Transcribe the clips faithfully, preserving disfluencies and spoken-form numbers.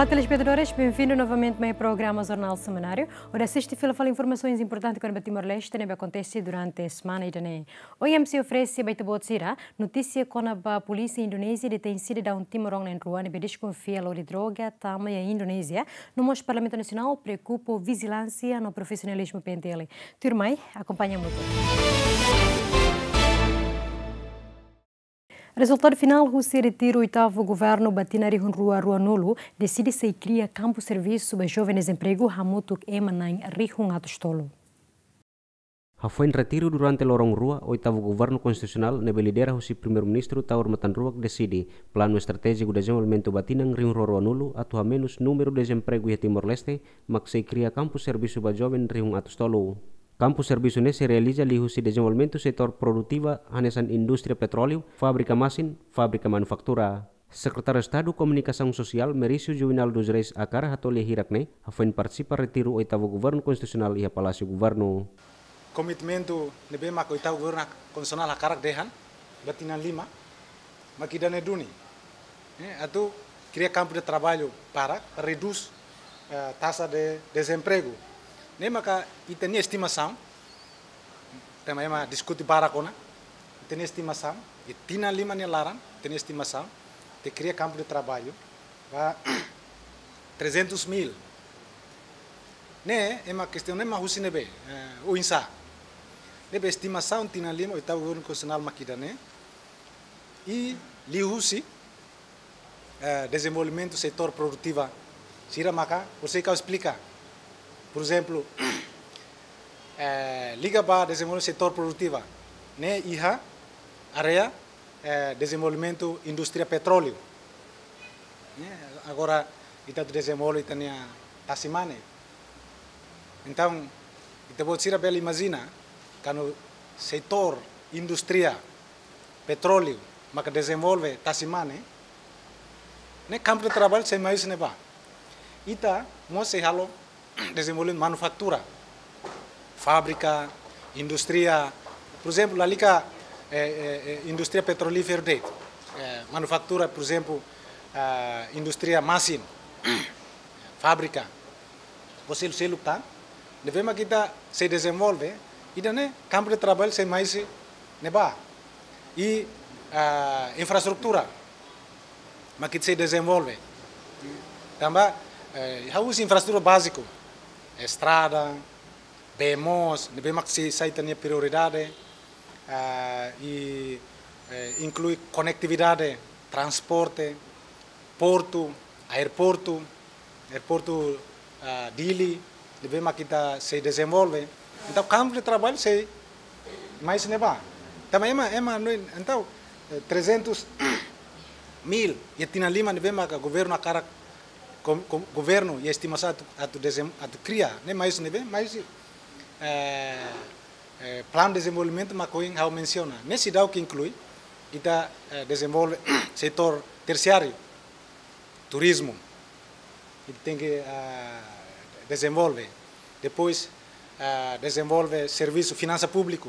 Olá, telespetadores, bem-vindo novamente ao programa Jornal Semanário. Hodi asiste fila fali informasaun importante kona-ba Timor-Leste ne'ebé akontese durante semana ida-ne'e. OIMC oferese ba ita-boot sira notísia kona-ba polísia Indonézia detein sidadaun timoroan na'in-rua ne'ebé deskonfia lori droga tama iha Indonézia, no mós Parlamentu Nasionál preokupa ho vijilánsia no profisionalizmu P N T L. Tuirmai, akompaña hamutuk. Rezultadu finál husi retiru oitavu governu ba tinan rihun rua ruanulu deside sei kria kampu servisu ba joven dezempregu hamutuk ema na'in rihun atus tolu. Hafoin retiru durante loron rua oitavu governu konstitusionál ne'ebé lidera husi Primeiru-Ministru Taur Matan Ruak deside planu estratéjiku dezenvolvimentu ba tinan rihun rua ruanulu atu hamenus númeru dezempregu iha Timor-Leste, mak sei kria kampu servisu ba joven rihun atus tolu. Kampu servisu ne'e sei realiza liuhusi dezenvolvimentu setór produtiva hanesan indústria petróleu, fábrika masin, fábrika manufatura. Sekretáriu Estadu Komunikasaun Sosiál Merício Juvenal dos Reis Akar hato'o lia hirak ne'e hafoin partisipa retiru oitavu governu konstitusionál iha Palásiu Governu. Komitmentu ne'ebé mak oitavu governu konstitusionál hakarak dehan ba tinan lima, mak ida-ne'e duni. Eh, atu kria kampu de traballu para redús, eh, taxa de dezempregu. Ne'e maka ita-nia estimasaun, tanba ema diskute barak ona, ita-nia estimasaun, iha tinan lima nia laran, ita-nia estimasaun, atu kria kampu de traballu ba trezentus mil. Ne'e, ema kestaun ne'e mak husi ne'ebé, eh, oinsá. Ne'ebé estimasaun tinan lima, oitavu governu konstitusionál mak ida-ne'e, i liuhusi, eh, dezenvolvimentu setór produtiva sira maka, por sei kau esplika. Por ezemplu, eh, liga ba dezenvolvimentu setór produtiva ne'e iha área, eh, dezenvolvimentu indústria petróleu. Eh, agora, ita atu dezenvolve ita-nia tasi-mane. Entaun, ita-boot sira bele imajina, kuandu setór indústria petróleu maka dezenvolve tasi-mane, ne'e kampu de traballu sei mai husi ne'ebá. Ita mós sei halo dezenvolve manufatura, fábrika, indústria, por ezemplu, lalika, eh, eh, eh, indústria petrolíferu de'it, eh, manufatura, por ezemplu, ah, indústria masin, fábrika, buat seluk-seluk tan ne'ebé mak ita sei dezenvolve, ida-ne'e kampu de traballu sei mai husi ne'ebá. I, ah, infraestrutura mak ita sei dezenvolve. Tanba, eh, ha'u husi infraestrutura báziku, estrada, bee moos, ne'ebé mak sei sai ita-nia prioridade, ah, i, eh, inklui konetividade, transporte, portu, aeroportu, aeroportu, ah, Dili, ne'ebé mak ita sei dezenvolve. Entaun, kampu de traballu sei mai husi ne'ebá. Tanba ema, ema no, entaun, eh, trezentus mil iha tinan lima ne'ebé mak governu hakarak, go-, go-, governu iha estimasaun atu, atu dezem-, atu kria, ne'e mai husi ne'ebé, mai husi, eh, eh, planu dezenvolvimentu mak ohin ha'u mensiona. Ne'e seidauk inklui ita, eh, dezenvolve setór tersiáriu, turizmu. Ita tenke, ah, dezenvolve. Depois, ah, dezenvolve servisu finansa públiku.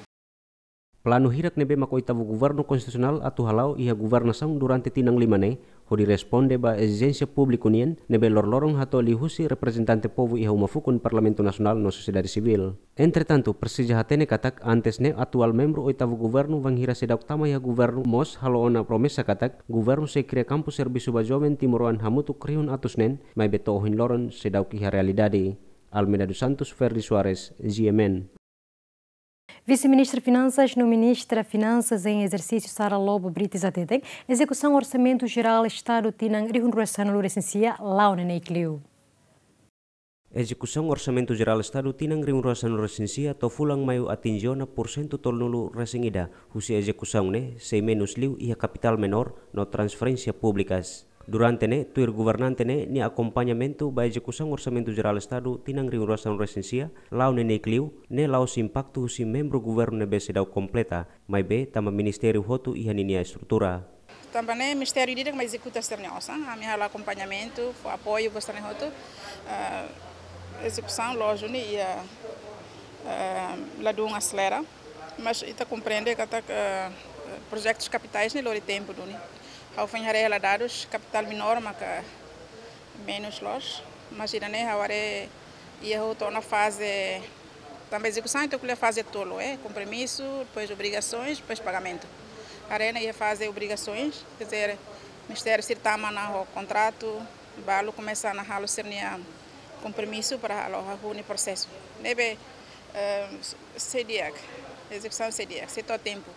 Planu hirak ne'ebé mak oitavu governu konstitusionál atu hala'o iha governasaun durante tinan lima ne'e, hodi responde ba ezijénsia públiku nian ne'ebé loroloron hato'o liuhusi reprezentante povu iha uma fukun Parlamentu Nasionál no sosiedade sivíl. Entretantu, presiza hatene katak antes ne'e atuál membru oitavu governu bainhira seidauk tama iha governu mós halo ona promesa katak governu sei kria kampu servisu ba joven timoroan hamutuk rihun atus neen, maibé to'o ohin loron seidauk iha realidade. Almeida dos Santos, Ferdi Soares, G M N. Vise-Ministra Finansas no Ministra Finansas em ezersísiu Sara Lobo Brites hateten, ezekusaun Orsamentu Jerál Estadu tinan rihun rua sanulu-resin-sia la'o neineik liu. Ezekusaun Orsamentu Jerál Estadu tinan rihun rua sanulu-resin-sia to'o fulan Maiu atinje ona pursentu tolunulu-resin-ida, husi ezekusaun ne'e sei menus liu iha kapitál menór no transferénsia públikas. Durante ne'e, tuir governante ne'e nia akompañamentu ba ezekusaun Orsamentu Jerál Estadu tinan rihun rua sanulu-resin-sia la'o neineik liu, ne'e la'ós impaktu husi membru governu ne'ebé seidauk kompleta, maibé tanba ministériu hotu iha ninia estrutura. Tanba ne'e ministériu ida-idak mak ezekuta sira-nia osan, ami halo akompañamentu, fó apoiu ba sira-ne'e hotu, eh, ezekusaun lójiku ne'e iha, eh, ladún aselera, mas ita komprende katak, eh, projetus kapitais ne'e lori tempu duni. Ha'u foin haree hela dadus, kapitál menór maka Menus loos, mas ida-ne'e ha'u haree iha hotu ona faze, tanba ezekusaun ita ko'alia faze tolu, eh, kompromisu, depois obrigasoens, depois pagamentu. Haree ona iha faze obrigasoens, quer dizer, ministériu sira tama ona ho kontratu, balu komesa ona halo sira-nia kompromisu para halo hahú nia prosesu. Ne'ebé, eh, sei di'ak, ezekusaun sei di'ak, sei to'o tempu.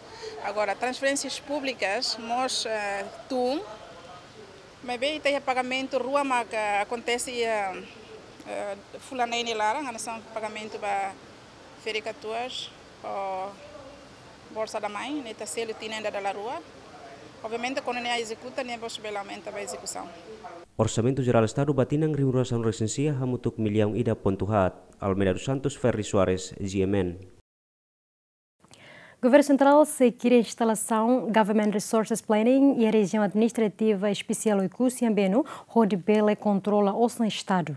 Agora, transferénsias públikas, mós, eh, tun, maibé ita iha pagamentu rua maka akontese iha, eh, fulan neen nia laran, hanesan pagamentu ba ferik-katuas ho Bolsa da Mãe, ne'e ita selu tinan ida dala rua. Obviamente, kuandu nia ezekuta, nia mós bele aumenta ba ezekusaun. Orsamentu Jerál Estadu ba tinan rihun rua sanulu-resin-sia hamutuk millaun ida pontu haat. Almeida dos Santos, Ferri Soares, G M N. Governu Sentrál sei kria instalasaun Government Resources Planning iha Rejiaun Administrativa Espesiál Oekusi Ambeno, hodi bele kontrola osan Estadu.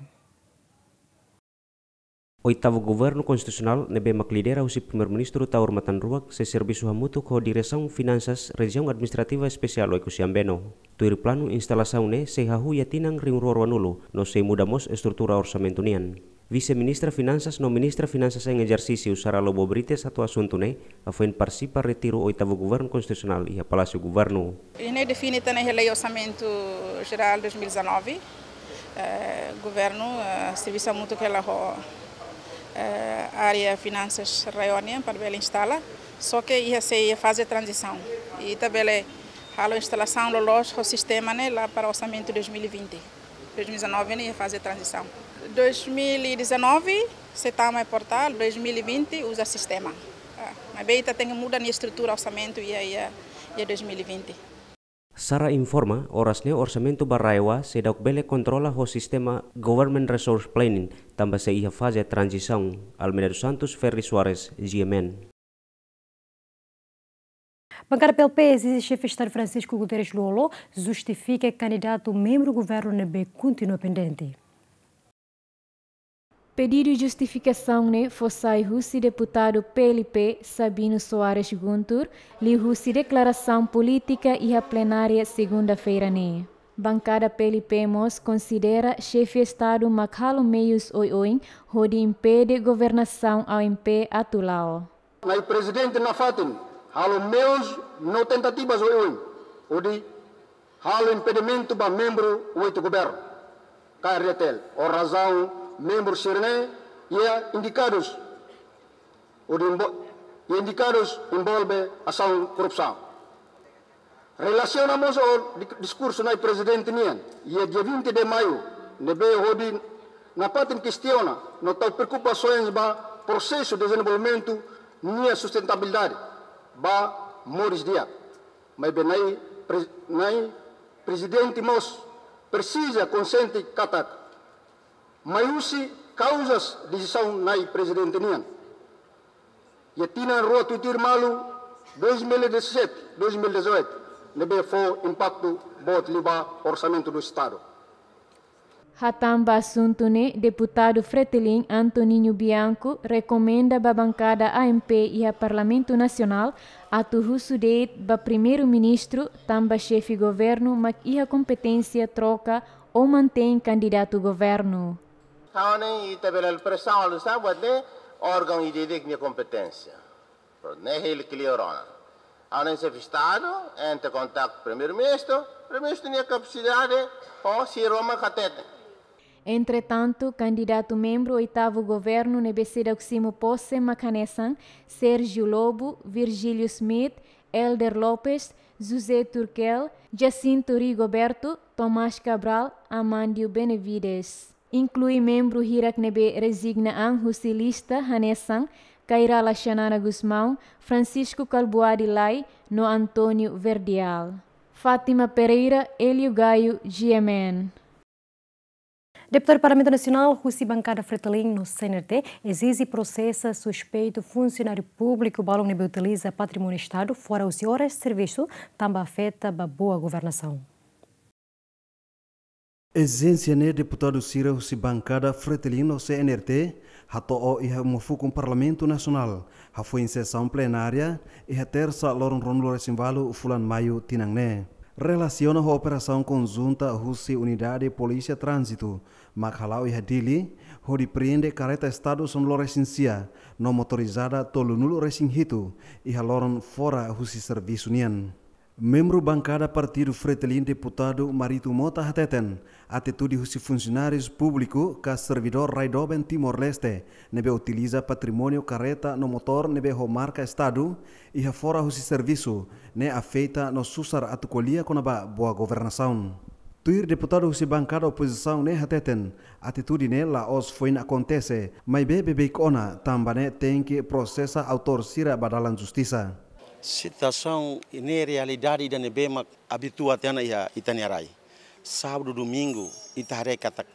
Oitavu Governu Konstitusionál ne'ebé mak lidera husi Primeiru-Ministru Taur Matan Ruak sei servisu hamutuk ho Diresaun Finansas Rejiaun Administrativa Espesiál Oekusi Ambeno. Tuir planu, instalasaun ne'e sei hahú iha tinan rihun rua ruanulu, no sei muda mós estrutura orsamentu nian. Vise-Ministra Finansas no Ministra Finansas em ezersísiu, Sara Lobo Brites, hato'o asuntu ne'e hafoin partisipa retiru Oitavu Governu Konstitusionál iha Palásiu Governu. Ida-ne'e define tiha ona iha Lei Orsamentu Jerál dois mil e dezanove. Eh, governu, eh, servisu hamutuk hela ho, eh, área finansas rai-oan nian para bele instala. Só que iha sei iha faze tranzisaun. I ita bele halo instalasaun loloos ho sistema ne'e la para orsamentu dois mil e vinte. Dois mil e dezanove ne'e iha faze tranzisaun. Dois mil e dezanove, sei tama iha portál, dois mil e vinte uza sistema. Ah, maibé ita tenke muda nia estrutura orsamentu iha, iha, iha dois mil e vinte. Sara informa, oras ne'e orsamentu ba RAEOA seidauk bele kontrola ho sistema Government Resource Planning, tanba sei iha faze tranzisaun. Almeida dos Santos, Ferri Soares, G M N. Bankada P L P ezize Xefe Estadu Francisco Guterres Lú-Olo justifika kandidatu membru governu ne'ebé kontinua pendente. Pedidu justifikasaun ne'e fó sai husi deputadu P L P Sabino Soares Guntur, liuhusi deklarasaun polítika iha plenária segunda-feira ne'e. Bankada P L P mós konsidera Xefe Estadu mak halo meius oioin hodi impede governasaun A M P atu la'o. Na'i Prezidente nafatin halo meius no tentativas oioin hodi halo impedimentu ba membru oito governu K R D T L. Ho razaun membru sira-ne'e iha indikadus hodi envo-, iha indikadus envolve asaun korrupsaun. Relasiona mós ho di-, diskursu Na'i Prezidente nian iha dia vinte de maio, ne'ebé hodi nafatin kestiona no tau preokupasoens ba prosesu dezenvolvimentu nia sustentabilidade ba moris di'ak. Maibé Na'i Pre-, Na'i Prezidente mós presiza konxiente katak mai husi kauzas desizaun Na'i Prezidente nian iha tinan rua tuir-tuir malu, dois mil e dezassete, dois mil e dezoito, ne'ebé fó impaktu boot liu ba orsamentu do Estadu. Hatán ba asuntu ne'e, deputadu Fretilin Antoninho Bianco rekomenda ba bankada A M P iha Parlamentu Nasionál atu husu de'it ba Primeiru-Ministru tanba xefe governu mak iha kompeténsia troka ou mantein kandidatu governu. Ha'u hanoin ita bele presaun halo saida buat ne'e órgaun ida-idak nia kompeténsia. Prontu, ne'e hili klia ona. Ha'u hanoin Xefe Estadu entre kontaktu Primeiru-Ministru, Primeiru-Ministru nia kapasidade ho sira mak hateten. Entretantu, kandidatu membru Oitavu Governu ne'ebé seidauk simu pose mak hanesan Sérgio Lobo, Virgílio Schmidt, Helder Lopes, José Turkel, Jacinto Rigoberto, Tomás Cabral, Amandio Benavides. Inklui membru hirak ne'ebé rezigna an husi lista hanesan Kay Rala Xanana Gusmão, Francisco Kalbuadi Lay, no António Verdial. Fátima Pereira, Hélio Gaio, G M N. Deputadu Parlamentu Nasionál husi bankada Fretilin no C N R T ezize prosesa suspeitu funsionáriu públiku balun ne'ebé utiliza patrimóniu Estadu fora husi oras servisu, tanba afeta ba boa governasaun. Ezijénsia ne'e deputadu sira husi bankada Fretilin no C N R T hato'o iha uma fukun Parlamentu Nasionál, hafoin sesaun plenária iha Tersa loron ruanulu-resin-ualu fulan Maiu tinan ne'e. Relasiona ho operasaun konjunta husi Unidade Polísia Tránzitu mak hala'o iha Dili, hodi prende kareta Estadu sanulu-resin-sia no motorizada tolunulu-resin-hitu iha loron fora husi servisu nian. Membru bankada Partidu Fretilin, Deputadu Marito Mota hateten, atitude husi funsionáriu públiku ka servidór rai doben Timor-Leste ne'ebé utiliza patrimóniu kareta no motór ne'ebé ho marka Estadu iha fora husi servisu ne'e afeta no susar atu ko'alia kona-ba boa governasaun. Tuir deputadu husi bankada opozisaun ne'e hateten, atitude ne'e la'ós foin akontese, maibé beibeik ona, tanba ne'e tenke prosesa autór sira ba dalan justisa. Situasaun ne'e realidade ida ne'ebé mak abitua tiha ona iha ita-nia rai. Sábadu, domingu, ita haree katak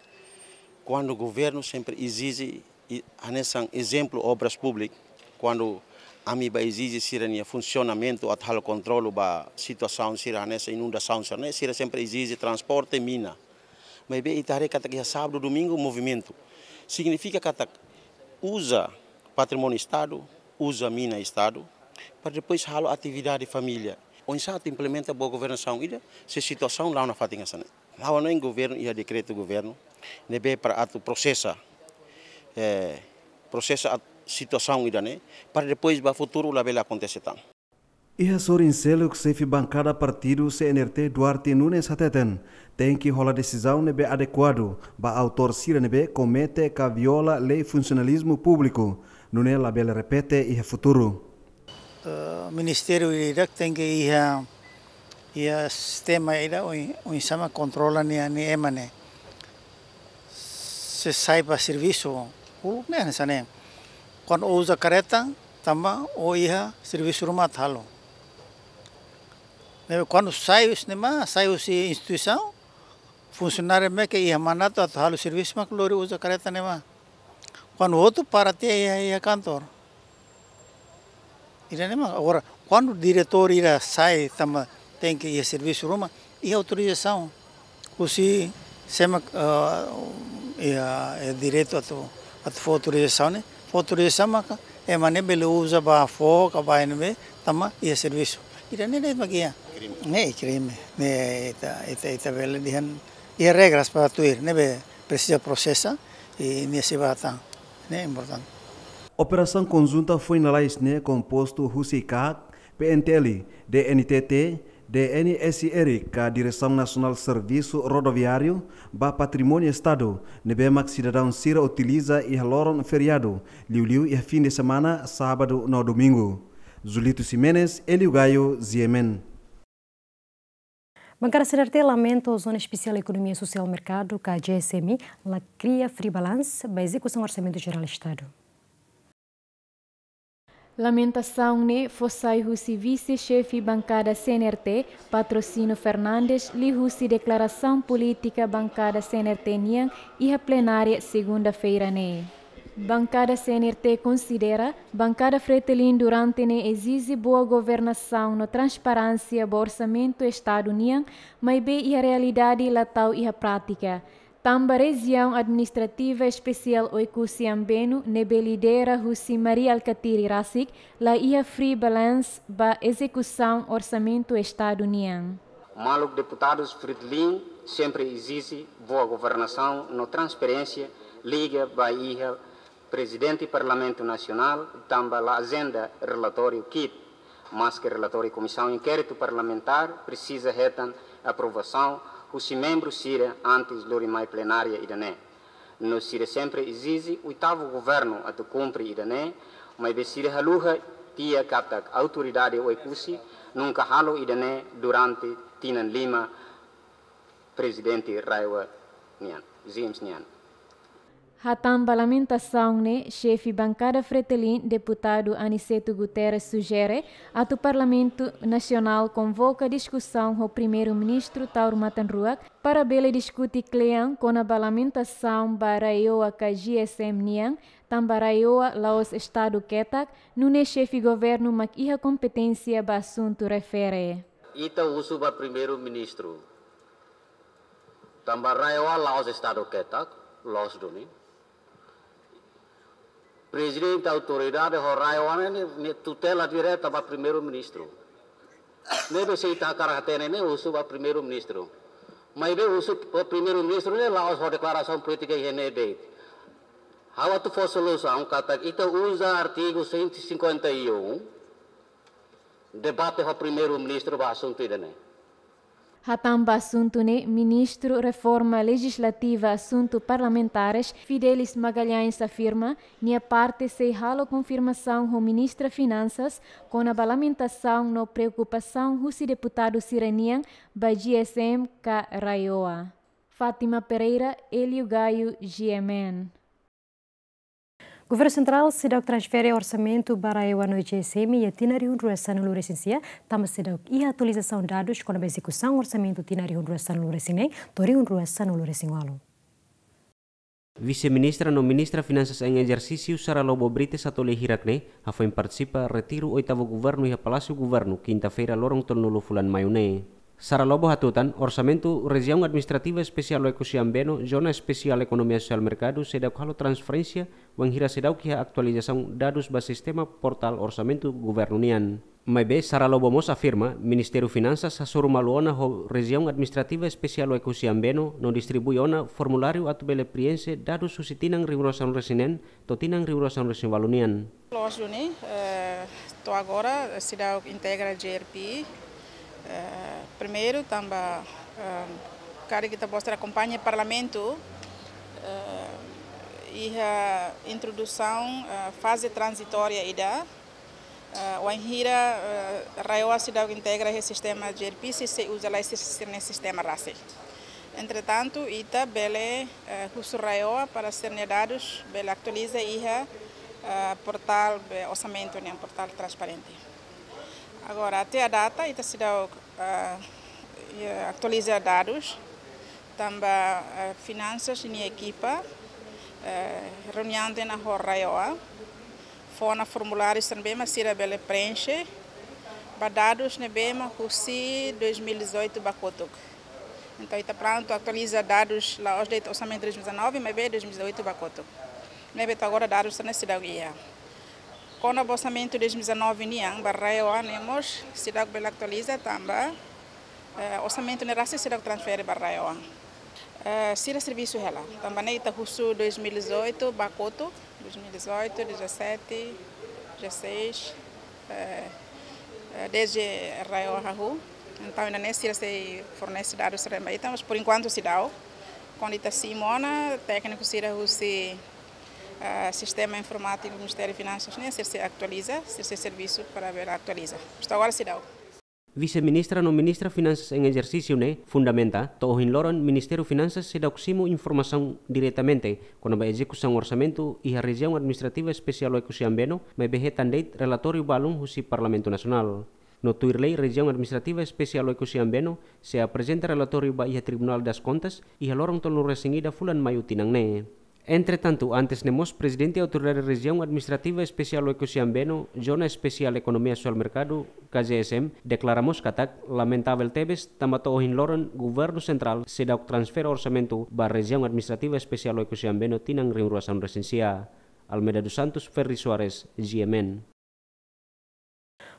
kuandu governu sempre ezije, i, hanesan ezemplu Obras Públikas, kuandu ami bá ezije sira-nia funsionamentu atu halo kontrolu ba situasaun sira hanesan inundasaun sira-ne'e, sira sempre ezije transporte, mina. Maibé ita haree katak iha sábadu, domingu movimentu. Signifika katak uza patrimóniu Estadu, uza mina Estadu, para depois halo atividade família. Oinsá atu implementa boa governasaun ida, se situasaun la'o nafatin hanesan ne'e. La'o hanoin governu iha dekretu governu ne'ebé para atu prosesa, eh, prosesa at-, situasaun ida-ne'e, para depois ba futuru labele akontese tan. Iha sorin seluk, xefe bankada partidu C N R T Duarte Nunes hateten, tenke hola desizaun ne'ebé adekuadu ba autór sira ne'ebé komete ka viola lei funsionalizmu públiku, nune'e labele repete iha futuru. Eh, ministériu ida tenke iha, iha sistema ida oin, oinsá mak kontrola nia, nia ema ne'e. Se sai ba servisu, uluk ne'e hanesan ne'e. Kuandu uza kareta, tanba ó iha servisu ruma atu halo. Ne'ebé kuandu sai husi ne'ebá, sai husi instituisaun, funsionáriu mak iha mandatu atu halo servisu mak lori uza kareta ne'ebá. Kuandu hotu para tiha iha, iha kantor. Ida-ne'e mak, agora, kuandu diretór ida sai tanba tenke iha servisu ruma, iha autorizasaun. Husi sé mak, ah, iha, iha direitu atu, atu fó autorizasaun ne'e, fó autorizasaun maka ema ne'e bele uza ba foho ka ba ne'ebé tanba iha servisu. Ida-ne'e de'it mak iha. Ne'e krime. Ne'e ita, ita, ita bele dehan iha regras para tuir, ne'ebé presiza prosesa, i nia sei ba tan. Ne'e importante. Operasaun konjunta foin lalais ne'e kompostu husi KAK, P N T L, D N T T, D N S R ka Diresaun Nasionál Servisu Rodoviáriu ba Patrimóniu Estadu, ne'ebé mak sidadaun sira utiliza iha loron feriadu, liuliu iha fin de semana, sábadu no domingu. Julito Ximenes, Elio Gaio, G M N. Bankada C N R T lamenta Zona Espesiál Ekonomia Sosiál Merkadu ka G S M la kria free balance ba ezekusaun Orsamentu Jerál Estadu. Lamentasaun ne'e fó sai husi vise-xefe bankada C N R T, Patrocínio Fernandes, liuhusi deklarasaun polítika bankada C N R T nian iha plenária segunda-feira ne'e. Bankada C N R T konsidera, bankada Fretilin durante ne'e ezije boa governasaun no transparénsia ba Orsamentu Estadu nian, maibé iha realidade la tau iha prátika. Tanba Rejiaun Administrativa Espesiál Oekusi Ambenu ne'ebé lidera husi Mari Alkatiri rasik, la iha free balance ba ezekusaun Orsamentu Estadu nian. Maluk deputadus Fretilin sempre ezije boa governasaun no transparénsia liga ba iha Prezidente Parlamentu Nasionál, tanba la ajenda relatóriu kit, maske relatóriu Komisaun Inkéritu Parlamentár presiza hetan aprovasaun husi membru sira antes lori mai plenária ida-ne'e. No sira sempre ezije oitavu governu atu kumpre ida-ne'e, maibé sira haluha tiha katak autoridade Oekusi nunka halo ida-ne'e durante tinan lima Prezidente RAEOA nian, James nian. Hatán ba lamentasaun ne'e, xefe bankada Fretilin, deputadu Aniceto Guterres sujere atu Parlamentu Nasionál konvoka diskusaun ho Primeiru-Ministru Taur Matan Ruak para bele diskute kle'an kona-ba lamentasaun ba RAEOA ka G S M nian, tanba RAEOA la'ós Estadu ketak, nune'e xefe governu mak iha kompeténsia ba asuntu refere. Ita husu ba Primeiru-Ministru. Tanba RAEOA la'ós Estadu ketak, loos duni. Prezidente Autoridade ho RAEOA ne'e, ne'e tutela direta ba Primeiru-Ministru. Ne'ebé se ita hakarak hatene ne'e husu ba Primeiru-Ministru. Maibé husu ba Primeiru-Ministru ne'e la'ós ho deklarasaun polítika iha ne'ebé. Ha'u atu fó solusaun katak ita uza artigu cento e cinquenta e um, debate ho Primeiru-Ministru ba asuntu ida-ne'e. Hatán ba asuntu ne'e, Ministru Reforma Lejislativa Asuntu Parlamentares, Fidelis Magalhães afirma, nia parte sei halo konfirmasaun ho Ministra Finansas kona-ba lamentasaun no preokupasaun husi deputadu sira-nian ba G S M ka RAEOA. Fátima Pereira, Hélio Gaio, G M N. Governu Sentrál seidauk transfere orsamentu ba RAEOA no G S M iha tinan rihun rua sanulu resin sia, tanba seidauk iha atualizasaun dadus kona-ba ezekusaun orsamentu tinan rihun rua sanulu resin neen to'o rihun rua sanulu resin ualu. Vise-Ministra no Ministra Finansas em ezersísiu Sara Lobo Brites atu lee hirak ne'e, hafoin partisipa retiru oitavu governu iha Palásiu Governu, kinta-feira loron tolunulu fulan Maiu ne'e. Sara Lobo hatutan, orsamentu Rejiaun Administrativa Espesiál Oekusi Ambeno, Zona Espesiál Ekonomia Sosiál Merkadu, seidauk halo transferénsia, wainhira seidauk iha atualizasaun dadus ba sistema portál orsamentu governu nian. Maibé, Sara Lobo mós afirma, Ministériu Finansas hasoru malu ona ho Rejiaun Administrativa Espesiál Oekusi Ambeno, no distribui ona formuláriu atu bele prienxe dadus husi tinan rihun rua sanulu resin neen, to'o tinan rihun rua sanulu resin ualu nian. Loos duni, eh, to'o agora, seidauk integra G R P, eh, primeiru, tanba, eh, karik ita-boot sira akompaña Parlamentu, eh, iha introdusaun, eh, faze tranzitória ida, eh, wainhira, eh, RAEOA seidauk integra iha sistema G R P, sei, sei uza lai sir-, sira-nia sistema rasik. Entretantu, ita bele, eh, husu RAEOA para sira-nia dadus bele atualiza iha, eh, portál be orsamentu nian, portál transparente. Agora, até à data, ita seidauk, eh, eh, atualiza dadus, tanba, eh, Finansas nia ekipa, eh, reuniaun tiha ona ho RAEOA, fó ona formuláriu sira ne'ebé mak sira bele prienxe, ba dadus ne'ebé mak husi dois mil e dezoito ba kotuk. Entaun, ita prontu atualiza dadus la'ós de'it orsamentu dois mil e dezanove, maibé dois mil e dezoito ba kotuk. Ne'ebé to'o agora dadus sira-ne'e seidauk iha. Kona-ba orsamentu dois mil e dezanove nian, ba RAEOA ne'e mós seidauk bele atualiza tanba, eh, orsamentu ne'e rasik seidauk transfere ba RAEOA. Eh, sira servisu hela. Tanba ne'e ita husu dois mil e dezoito ba kotuk, dois mil e dezoito, dezassete, dezasseis, eh, eh, desde RAEOA hahú. Entaun, iha ne'e sira sei fornese dadus sira ba ita, mas por enquanto seidauk. Kuandu ita simu ona, tékniku sira husi, eh, sistema informátiku Ministériu Finansas ne'e, sira sei atualiza, sira sei servisu para bele atualiza. Mas to'o agora seidauk. Vise-Ministra no Ministra Finansas em ezersísiu ne'e fundamenta, to'o ohin loron Ministériu Finansas seidauk simu informasaun diretamente kona-ba ezekusaun orsamentu iha Rejiaun Administrativa Espesiál Oekusi Ambeno, maibé hetan de'it relatóriu balun husi Parlamentu Nasionál. No tuir lei, Rejiaun Administrativa Espesiál Oekusi Ambeno sei aprezenta relatóriu ba iha Tribunal das Contas iha loron tolunulu resin ida fulan Maiu tinan ne'e. Entretantu, antes ne'e mós Prezidente Autoridade Rejiaun Administrativa Espesiál Oekusi Ambeno, Zona Espesiál Ekonomia Sosiál Merkadu, K Z S M, deklara mós katak lamentavel tebes, tanba to'o ohin loron Governu Sentrál seidauk transfere orsamentu ba Rejiaun Administrativa Espesiál Oekusi Ambeno tinan rihun rua sanulu resin sia. Almeida dos Santos, Ferri Soares, G M N.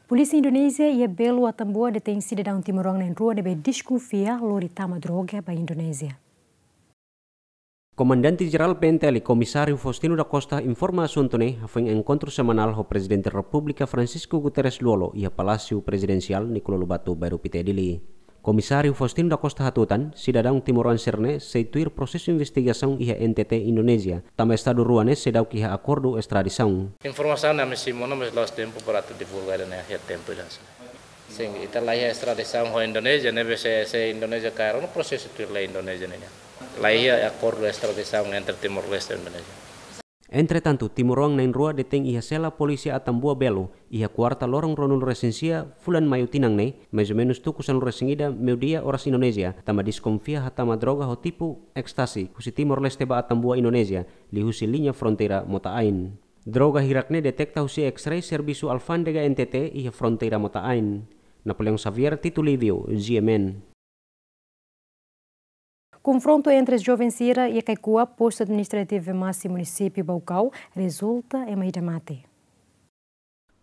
Polísia Indonézia iha Belo, Atambua, detein sidadaun timoroan na'in-rua ne'ebé deskonfia lori tama droga ba Indonézia. Komandante Jerál P N T L, Komisáriu Faustino da Costa, informa asuntu ne'e hafoin enkontru semanál ho Prezidente Repúblika Francisco Guterres Lú-Olo iha Palásiu Prezidensiál Nicolau Lobato, Bairru Pité, Dili. Komisáriu Faustino da Costa hatutan, sidadaun timoroan sira-ne'e sei tuir prosesu investigasaun iha N T T Indonézia, tanba estadu rua ne'e seidauk iha akordu estradisaun. Informasaun ne'e ami simu ona, mas la'ós tempu para atu divulga ida-ne'e iha tempu ida. Sin, ita la iha estradisaun ho Indonézia, ne'ebé se, se Indonézia kaer ona prosesu tuir lei Indonézia nian. La iha akordu estradisaun entre Timor-Leste no Indonézia. Entretantu, timoroan na'in-rua detein iha sela polísia Atambua Belo, iha kuarta loron ruanulu resin sia fulan Maiu tinan ne'e, mais ou menus tuku sanulu resin ida meiudia oras Indonézia, tanba deskonfia hatama droga ho tipu ekstasi husi Timor-Leste ba Atambua, Indonézia, liuhusi liña fronteira Mota Ain. Droga hirak ne'e deteta husi X-ray servisu alfándega N T T iha fronteira Mota Ain. Napoleão Xavier, Tito Livio, G M N. Konfrontu entre joven sira iha Kaikua, Postu Administrativu Masi, Munisípiu Baucau, rezulta ema ida mate.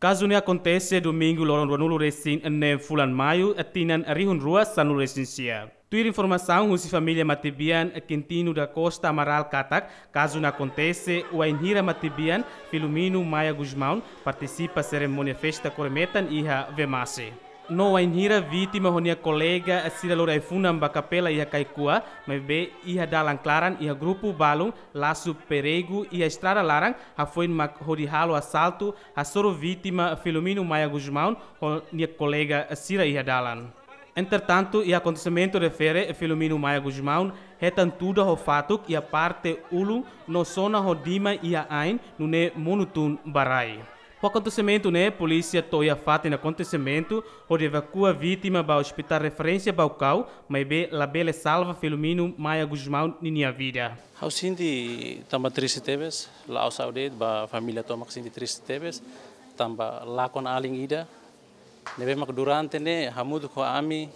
Kazu ne'e akontese Domingu loron ruanulu-resin-neen fulan Maiu, tinan rihun rua sanulu-resin-sia. Tuir informasaun husi família matebian Quintino da Costa Amaral katak, kazu ne'e akontese wainhira matebian Filomeno Maia Gusmão partisipa serimónia festa kore-metan iha Vemasse. No wainhira vítima ho nia kolega sira lori ai-funan ba kapela iha Kaikua, maibé iha dalan klaran iha grupu balun lasu perigu iha estrada laran, hafoin mak hodi halo asaltu, hasoru vítima Filomeno Maia Gusmão ho nia kolega sira iha dalan. Entretantu, iha akontesimentu refere, Filomeno Maia Gusmão hetan tuda ho fatuk iha parte ulun no sona ho diman iha ain, nune'e monu tun ba rai. Ho akontesimentu ne'e, polísia to'o iha fatin akontesimentu hodi evakua vítima ba Ospitál Referénsia Baucau, maibé labele salva Filomeno Maia Gusmão ninia vida. Ha'u sente tanba triste tebes, la'ós ha'u de'it, ba família tomak sente triste tebes, tanba lakon alin ida ne'ebé mak durante ne'e hamutuk ho ami,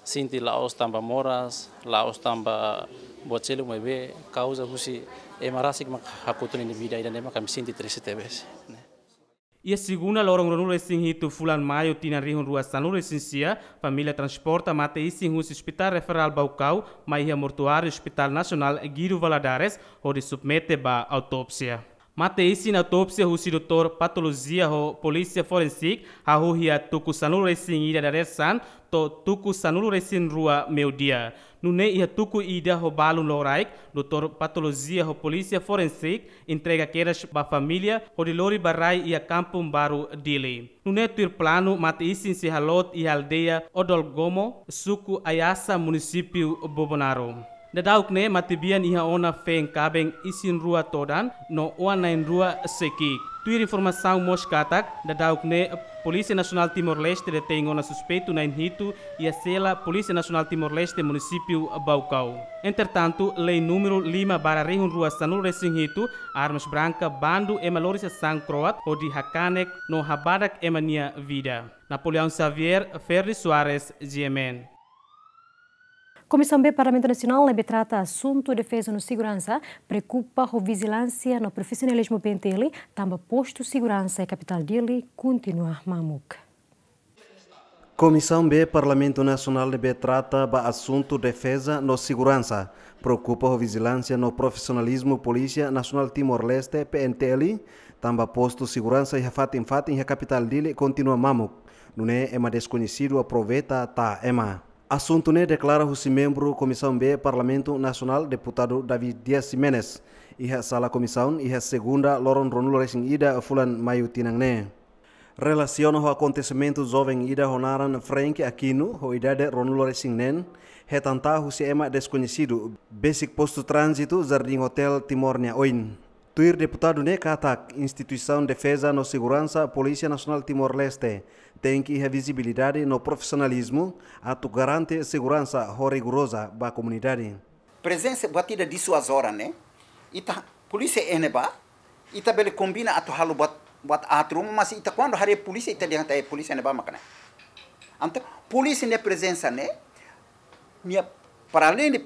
sente la'ós tanba moras, la'ós tanba buat seluk, maibé kauza husi ema rasik mak hakotu ninia vida ida ne'e mak ami sente triste tebes. Iha segunda loron ruanulu-resin-hitu fulan Maiu tinan rihun rua sanulu-resin-sia, família transporta mate-isin husi Ospitál Referál Baucau mai iha mortuáriu Ospitál Nasionál Guido Valadares hodi submete ba autópsia. Mate-isin autópsia husi doutór patolojia ho polísia forensik hahú iha tuku sanulu-resin-ida dadeer-saan to'o tuku sanulu-resin-rua meiudia. Nune'e iha tuku ida ho balun loraik, doutór patolojia ho polísia forensik entrega kedas ba família hodi lori ba rai iha Kampung Baru, Dili. Nune'e tuir planu mate-isin sei haloot iha aldeia Odolgomo, suku Ayasa, munisípiu Bobonaro. Daudauk ne'e matebian iha ona feen kaben isin rua todan no oan na'in rua sei ki'ik. Tuir informasaun mós katak, daudauk ne'e Polísia Nasionál Timor-Leste detein ona suspeitu na'in hitu iha sela Polísia Nasionál Timor-Leste munisípiu Baucau. Entretantu, lei númeru lima barra rihun rua sanulu-resin-hitu, armas branka, bandu ema lori sasán kroat hodi hakanek no habadak ema nia vida. Napoleão Xavier, Ferdi Soares, G M N. Komisaun B Parlamentu Nasionál ne'ebé trata asuntu defeza no seguransa preokupa ho vijilánsia no profisionalizmu P N T L, tanba postu seguransa iha kapitál Dili kontinua mamuk. Komisaun B Parlamentu Nasionál ne'ebé trata ba asuntu defeza no seguransa preokupa ho vijilánsia no profisionalizmu Polísia Nasionál Timor-Leste, P N T L, tanba postu seguransa iha fatin-fatin iha kapitál Dili kontinua mamuk. Nune'e ema deskoñesidu aproveita ta'a ema. Asuntu ne'e deklara husi membru Komisaun B Parlamentu Nasionál, Deputadu David Dias Ximenes, iha sala komisaun, iha segunda loron ruanulu-resin-ida fulan Maiu tinan ne'e. Relasiona ho akontesimentu, joven ida ho naran Frank Aquino, ho idade ruanulu-resin-neen, hetan ta'a husi ema deskoñesidu besik postu tránzitu Jardim Hotel Timor nia oin. Tuir deputadu ne'e katak, instituisaun defeza no seguransa Polísia Nasionál Timor-Leste tenke iha vizibilidade no profisionalizmu atu garante seguransa ho rigoroza ba komunidade. Prezensa buat ida disuazora ne'e, ita polísia iha ne'ebá, ita bele kombina atu halo buat, buat aat ruma, mas ita kuandu haree polísia, ita dehan katak polísia ne'ebá mak ne'e. Entaun, polísia nia prezensa ne'e, nia para além de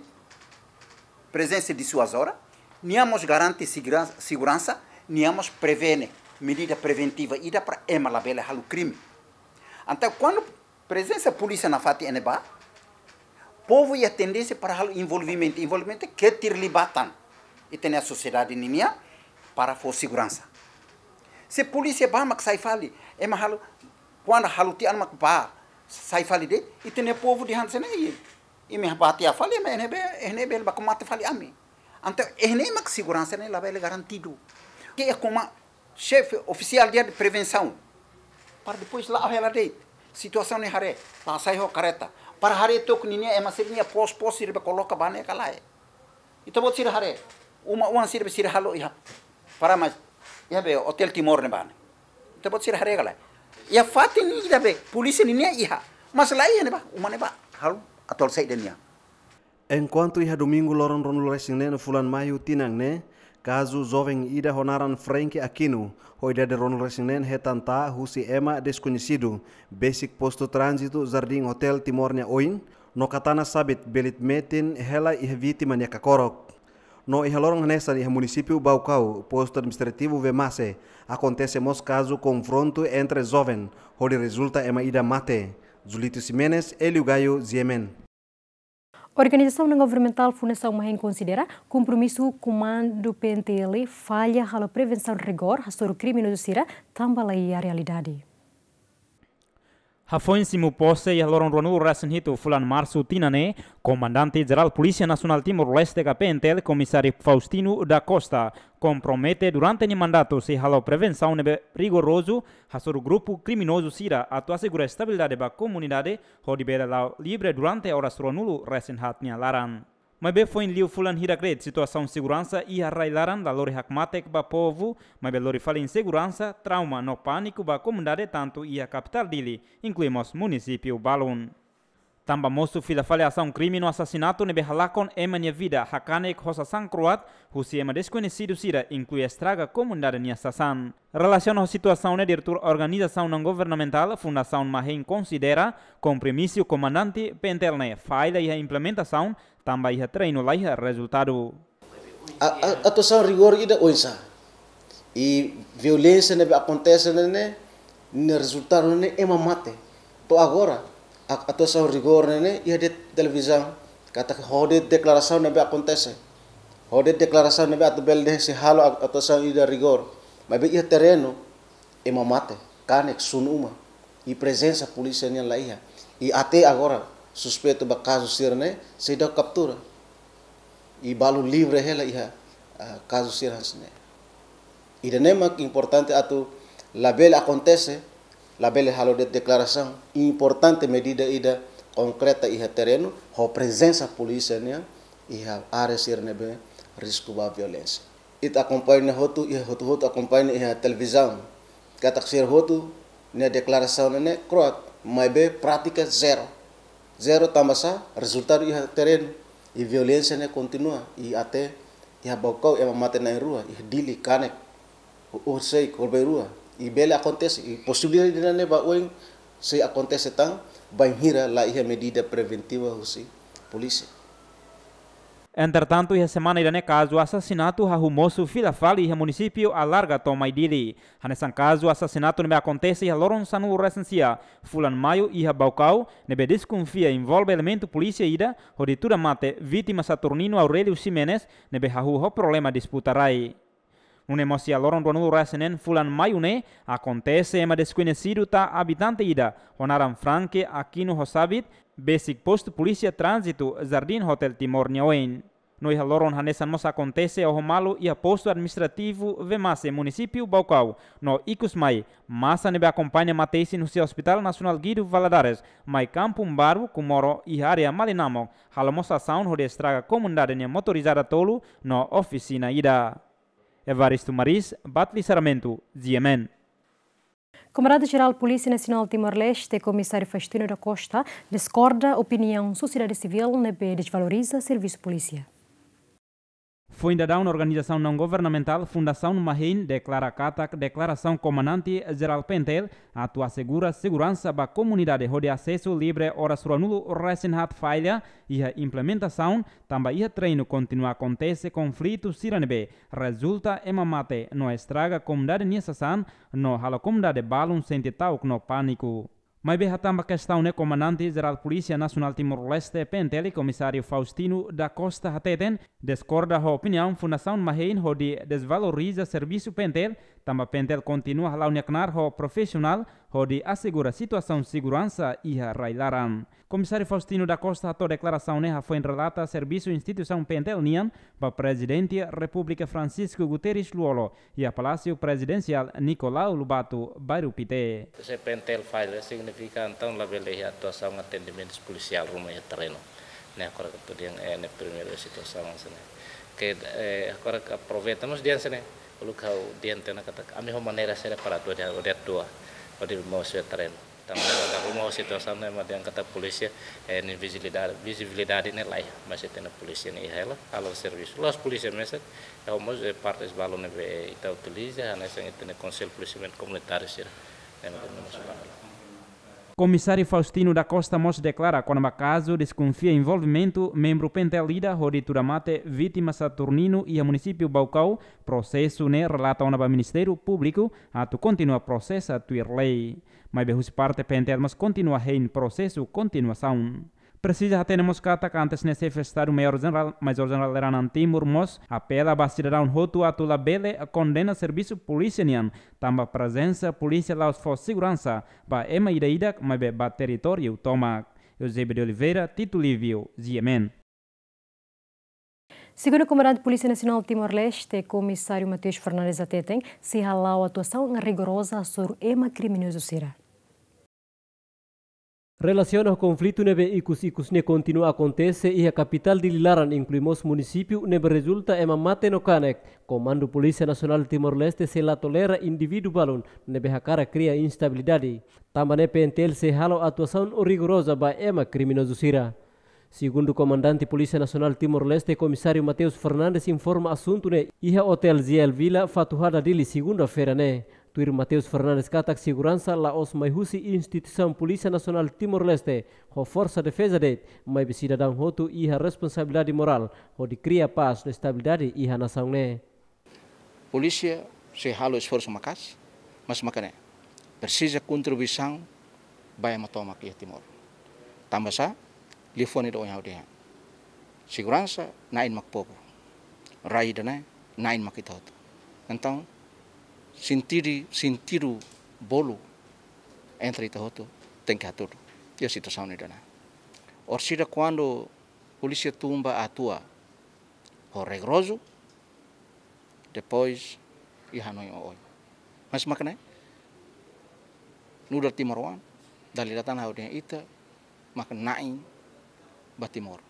prezensa disuazora, nia mós garante seguransa, seguransa, nia mós prevene, medida preventiva ida para ema labele halo krime. Entaun, kuandu prezensa polísia nafatin iha ne'ebá, povu iha tendénsia para halo envolvimentu, envolvimentu ke terlibatan ita-nia sosiedade ninian para fó seguransa. Se polísia bá mak sai fali, ema halo, kuandu halo tiha mak bá, sai fali de'it, ita-nia povu dehan hanesan ne'e, imi bá tiha fali, ema iha ne'ebé, iha ne'ebé baku mate fali ami. Entaun, iha ne'e mak seguransa ne'e labele garantidu. Ke iha koma xefe ofisiál dia de prevensaun, para depois la'o hela de'it, situasaun ne'e haree, la sai ho kareta, para haree took ninia ema sira-nia pos, pos sira be koloka ba ne'e ka lae. Ita-boot sira haree, uma oan sira be sira halo iha, para mais, iha be Hotel Timor ne'ebá ne'e. Ita-boot sira haree ka lae. Iha fatin ida be polísia ninian iha, mas la iha ne'ebá, uma ne'ebá, halo atuál saida nian. Enkuantu iha Domingu loron ruanulu-resin-neen fulan Maiu tinan ne'e, kazu joven ida ho naran Frank Aquino, ho idade ruanulu-resin-neen, hetan ta'a husi ema deskoñesidu besik postu tránzitu Jardim Hotel Timor nia oin, no katana sabit belit metin hela iha vítima nia kakorok. No iha loron hanesan iha munisípiu Baucau, postu administrativu Vemasse, akontese mós kazu konfrontu entre joven, hodi rezulta ema ida mate. Julito Ximenes, Hélio Gaio, G M N. Organizasaun não-governamentál Fundasaun Mahein konsidera kompromisu komandu P N T L falla halo prevensaun rigór hasoru kriminozu sira tanba laiha realidade. Hafoin simu pose iha loron ruanulu-resin-hitu fulan Marsu tinan ne'e, Komandante Jerál Polísia Nasionál Timor-Leste ka P N T L, Komisáriu Faustino da Costa, kompromete durante nia mandatu sei halo prevensaun ne'ebé rigorozu hasoru grupu kriminozu sira atu asegura estabilidade ba komunidade, hodi bele la'o livre durante oras ruanulu-resin-haat nia laran. Maibé foin liu fulan hirak de'it situasaun seguransa iha rai-laran la lori hakmatek ba povu, maibé lori fali inseguransa, trauma no pániku ba komunidade tantu iha kapitál Dili, inklui mós munisípiu balun. Tanba mosu fila fali asaun krime no asasinatu ne'ebé halakon ema nia vida, hakanek ho sasán kro'at husi ema deskoñesidu sira, inklui estraga komunidade nia sasán. Relasiona ho situasaun ne'e, diretór organizasaun não-governamentál Fundasaun Mahein konsidera kompromisu komandante P N T L ne'e falla iha implementasaun, tanba iha terrenu laiha rezultadu. A, a, atuasaun rigór ida oinsá. I violénsia ne'ebé akontese ne'e, ne'e rezultadu ne'e ema mate. To'o agora, a, atuasaun rigór ne'e, ne'e iha de'it televizaun, katak ho de'it deklarasaun ne'ebé akontese. Ho de'it deklarasaun ne'ebé atu bele dehan sei halo a, atuasaun ida rigór. Maibé iha terrenu, ema mate, kanek, sunu uma. I prezensa polísia nian laiha. I até agora, suspeitu ba kazu sira-ne'e seidauk kaptura. I balu livre hela iha, ah, kazu sira hanesan ne'e. Ida-ne'e mak importante atu labele akontese, labele halo de'it deklarasaun. Importante medida ida konkreta iha terrenu, ho prezensa polísia nian iha área sira ne'ebé risku ba violénsia. Ita akompaña hotu, iha hotu-hotu akompaña iha televizaun. Katak sira hotu nia deklarasaun ne'e kro'at, maibé prátika zero. Zero tanba sá, rezultadu iha terrenu, i violénsia ne'e kontinua, i até iha Baucau ema mate na'in rua, iha Dili kanek, u-, u-, sei korban rua, i bele akontese, i posibilidade ne'e ba oin sei akontese tan, bainhira laiha medida preventiva husi polísia. Entretantu, iha semana ida-ne'e kazu asasinatu hahú mosu fila fali iha munisípiu Alarga to'o mai Dili. Hanesan kazu asasinatu ne'ebé akontese iha loron sanulu-resin-sia fulan Maiu iha Baucau, ne'ebé deskonfia envolve elementu polísia ida, hodi tuda mate vítima Saturnino Aurelio Ximenes, ne'ebé hahú ho problema disputa rai. Nune'e mós iha loron ruanulu-resin-neen fulan Maiu ne'e, akontese ema deskoñesidu tau abitante ida, ho naran Franke Aquino Hosabit, besik postu polísia tránzitu Jardim Hotel Timor nia oin. No iha loron hanesan mós akontese oho malu iha postu administrativu Vemasse, munisípiu Baucau, no ikus mai, masa ne'ebé akompaña mate-isin husi Hospital Nasionál Guido Valadares, mai Kampung Baru, Comoro, iha área Malinamok, halo mós asaun hodi estraga komunidade nia motorizada tolu no ofisina ida. Evaristo Maris, Batli Sarmento, G M N. Komandante Jerál Polísia Nasionál Timor-Leste, Komisáriu Faustino da Costa, diskorda opiniaun sosiedade sivíl ne'ebé desvaloriza servisu polísia. Foin daudaun organizasaun não-governamentál Fundasaun Mahein deklara katak deklarasaun Komandante Jerál P N T L atu asegura seguransa ba komunidade hodi asesu livre oras ruanulu-resin-haat falla iha implementasaun, tanba iha terrenu kontinua akontese konflitu sira ne'ebé rezulta ema mate no estraga komunidade nia sasán, no halo komunidade balun sente ta'uk no pániku. Maibé hatán ba kestaun ne'e, Komandante Jerál Polísia Nasionál Timor-Leste, P N T L, Komisáriu Faustino da Costa hateten, diskorda ho opiniaun Fundasaun Mahein hodi desvaloriza servisu P N T L, tanba P N T L kontinua hala'o nia knaar ho profisionál hodi asegura situasaun seguransa iha rai-laran. Komisáriu Faustino da Costa hato'o deklarasaun ne'e hafoin relata servisu instituisaun P N T L nian ba Prezidente Repúblika Francisco Guterres Lú-Olo iha Palásiu Prezidensiál Nicolau Lobato, Bairru Pité. Se P N T L falla, signifika entaun labele iha atuasaun atendimentu polisiál ruma iha terrenu. Ne'e agora ke atu dehan, eh, ne'e primeiru situasaun hanesan ne'e. Ke, eh, agora ke aproveita, mós dehan hanesan ne'e, uluk ha'u dehan tiha ona katak, ami ho maneira saida para atu dehan, atu atua, atu mós iha terrenu. Tanba ne'e, ita ruma ho situasaun ne'e, ema dehan katak polísia, eh, nia vizibilidade, vizibilidade ne'e laiha, mas ita-nia polísia ne'e iha hela, halo servisu. La'ós polísia mesak, eh, mós, eh, partes balun ne'ebé ita utiliza, hanesan ita-nia Konsellu Polisiamentu Komunitáriu sira. Ne'e mak ita-nia mós balun. Komisáriu Faustino da Costa mós deklara kona-ba kazu deskonfia envolvimentu membru PNTL ida hodi tuda mate vítima Saturnino iha munisípiu Baucau, prosesu ne'e relata ona ba Ministériu Públiku atu kontinua prosesa tuir lei. Maibé husi parte PNTL mós kontinua hein prosesu kontinuasaun. Presiza hatene mós katak antes ne'e Xefe Estadu Maiór Jenerál, Major Jenerál Liuranang Timur mós apela ba sidadaun hotu atu labele kondena servisu polísia nian, tanba prezensa polísia la'ós fó seguransa ba ema ida-idak, maibé ba territóriu tomak. Eusébio de Oliveira, Tito Lívio, G M N. Segundu Komandante Polísia Nasionál Timor-Leste, Komisáriu Mateus Fernandes hateten, sei hala'o atuasaun rigoroza hasoru ema kriminozu sira. Relasiona ho konflitu ne'ebé ikus-ikus ne'e kontinua akontese iha kapitál Dili laran, inklui mós munisípiu ne'ebé rezulta ema mate no kanek, Komandu Polísia Nasionál Timor-Leste sei la tolera indivíduu balun ne'ebé hakarak kria instabilidade. Tanba ne'e PNTL sei halo atuasaun rigoroza ba ema kriminozu sira. Segundu Komandante Polísia Nasionál Timor-Leste, Komisáriu Mateus Fernandes informa asuntu ne'e iha Hotel Ziel Villa, Fatuhada, Dili, segunda-feira ne'e. Tuir Mateus Fernandes katak seguransa la'ós mai husi instituisaun Polísia Nasionál Timor-Leste ho Forsa Defeza de'it, maibé sidadaun hotu iha responsabilidade morál hodi kria pás no estabilidade iha nasaun ne'e. Polísia sei halo esforsu maka'as, mas maka ne'e presiza kontribuisaun ba ema tomak iha Timor. Tanba sá, liafuan ida ohin ha'u dehan. Seguransa na'in mak povu. Rai ida-ne'e na'in mak ita hotu. Entaun, sentidu, sentidu bolu entre ita hotu tenke hatudu iha situasaun ida-ne'e. Orsida kuandu polísia tun ba atua ho rigorozu, depois iha hanoin oioin. Mas maka ne'e, nu'udar timoroan, dala ida tan ha'u dehan ita mak na'in ba Timor.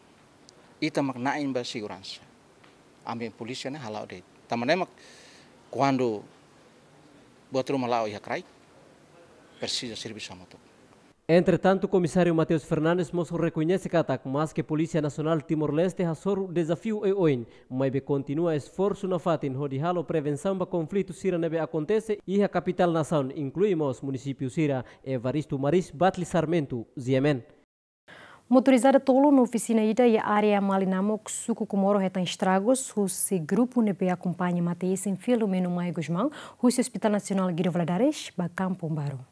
Ita mak na'in ba seguransa. Ami polísia ne'e hala'o de'it. Tanba ne'e mak kuandu buat ruma la'o iha kraik, presiza servisu hamutuk. Entretantu, Komisáriu Mateus Fernandes mós rekoñese katak, maske Polísia Nasionál Timor-Leste hasoru dezafiu oioin, maibé kontinua esforsu nafatin hodi halo prevensaun ba konflitu sira ne'ebé akontese iha kapitál nasaun, inklui mós munisípiu sira. Evaristo Maris, Batli Sarmento, G M N. Motorizada tolu no ofisina ida iha área Malinamuk, Suku Comoro hetan estragus husi grupu ne'ebé akompaña mate-isin Filomeno Maia Gusmão, husi Hospital Nasionál Guido Valadares ba Kampung Baru.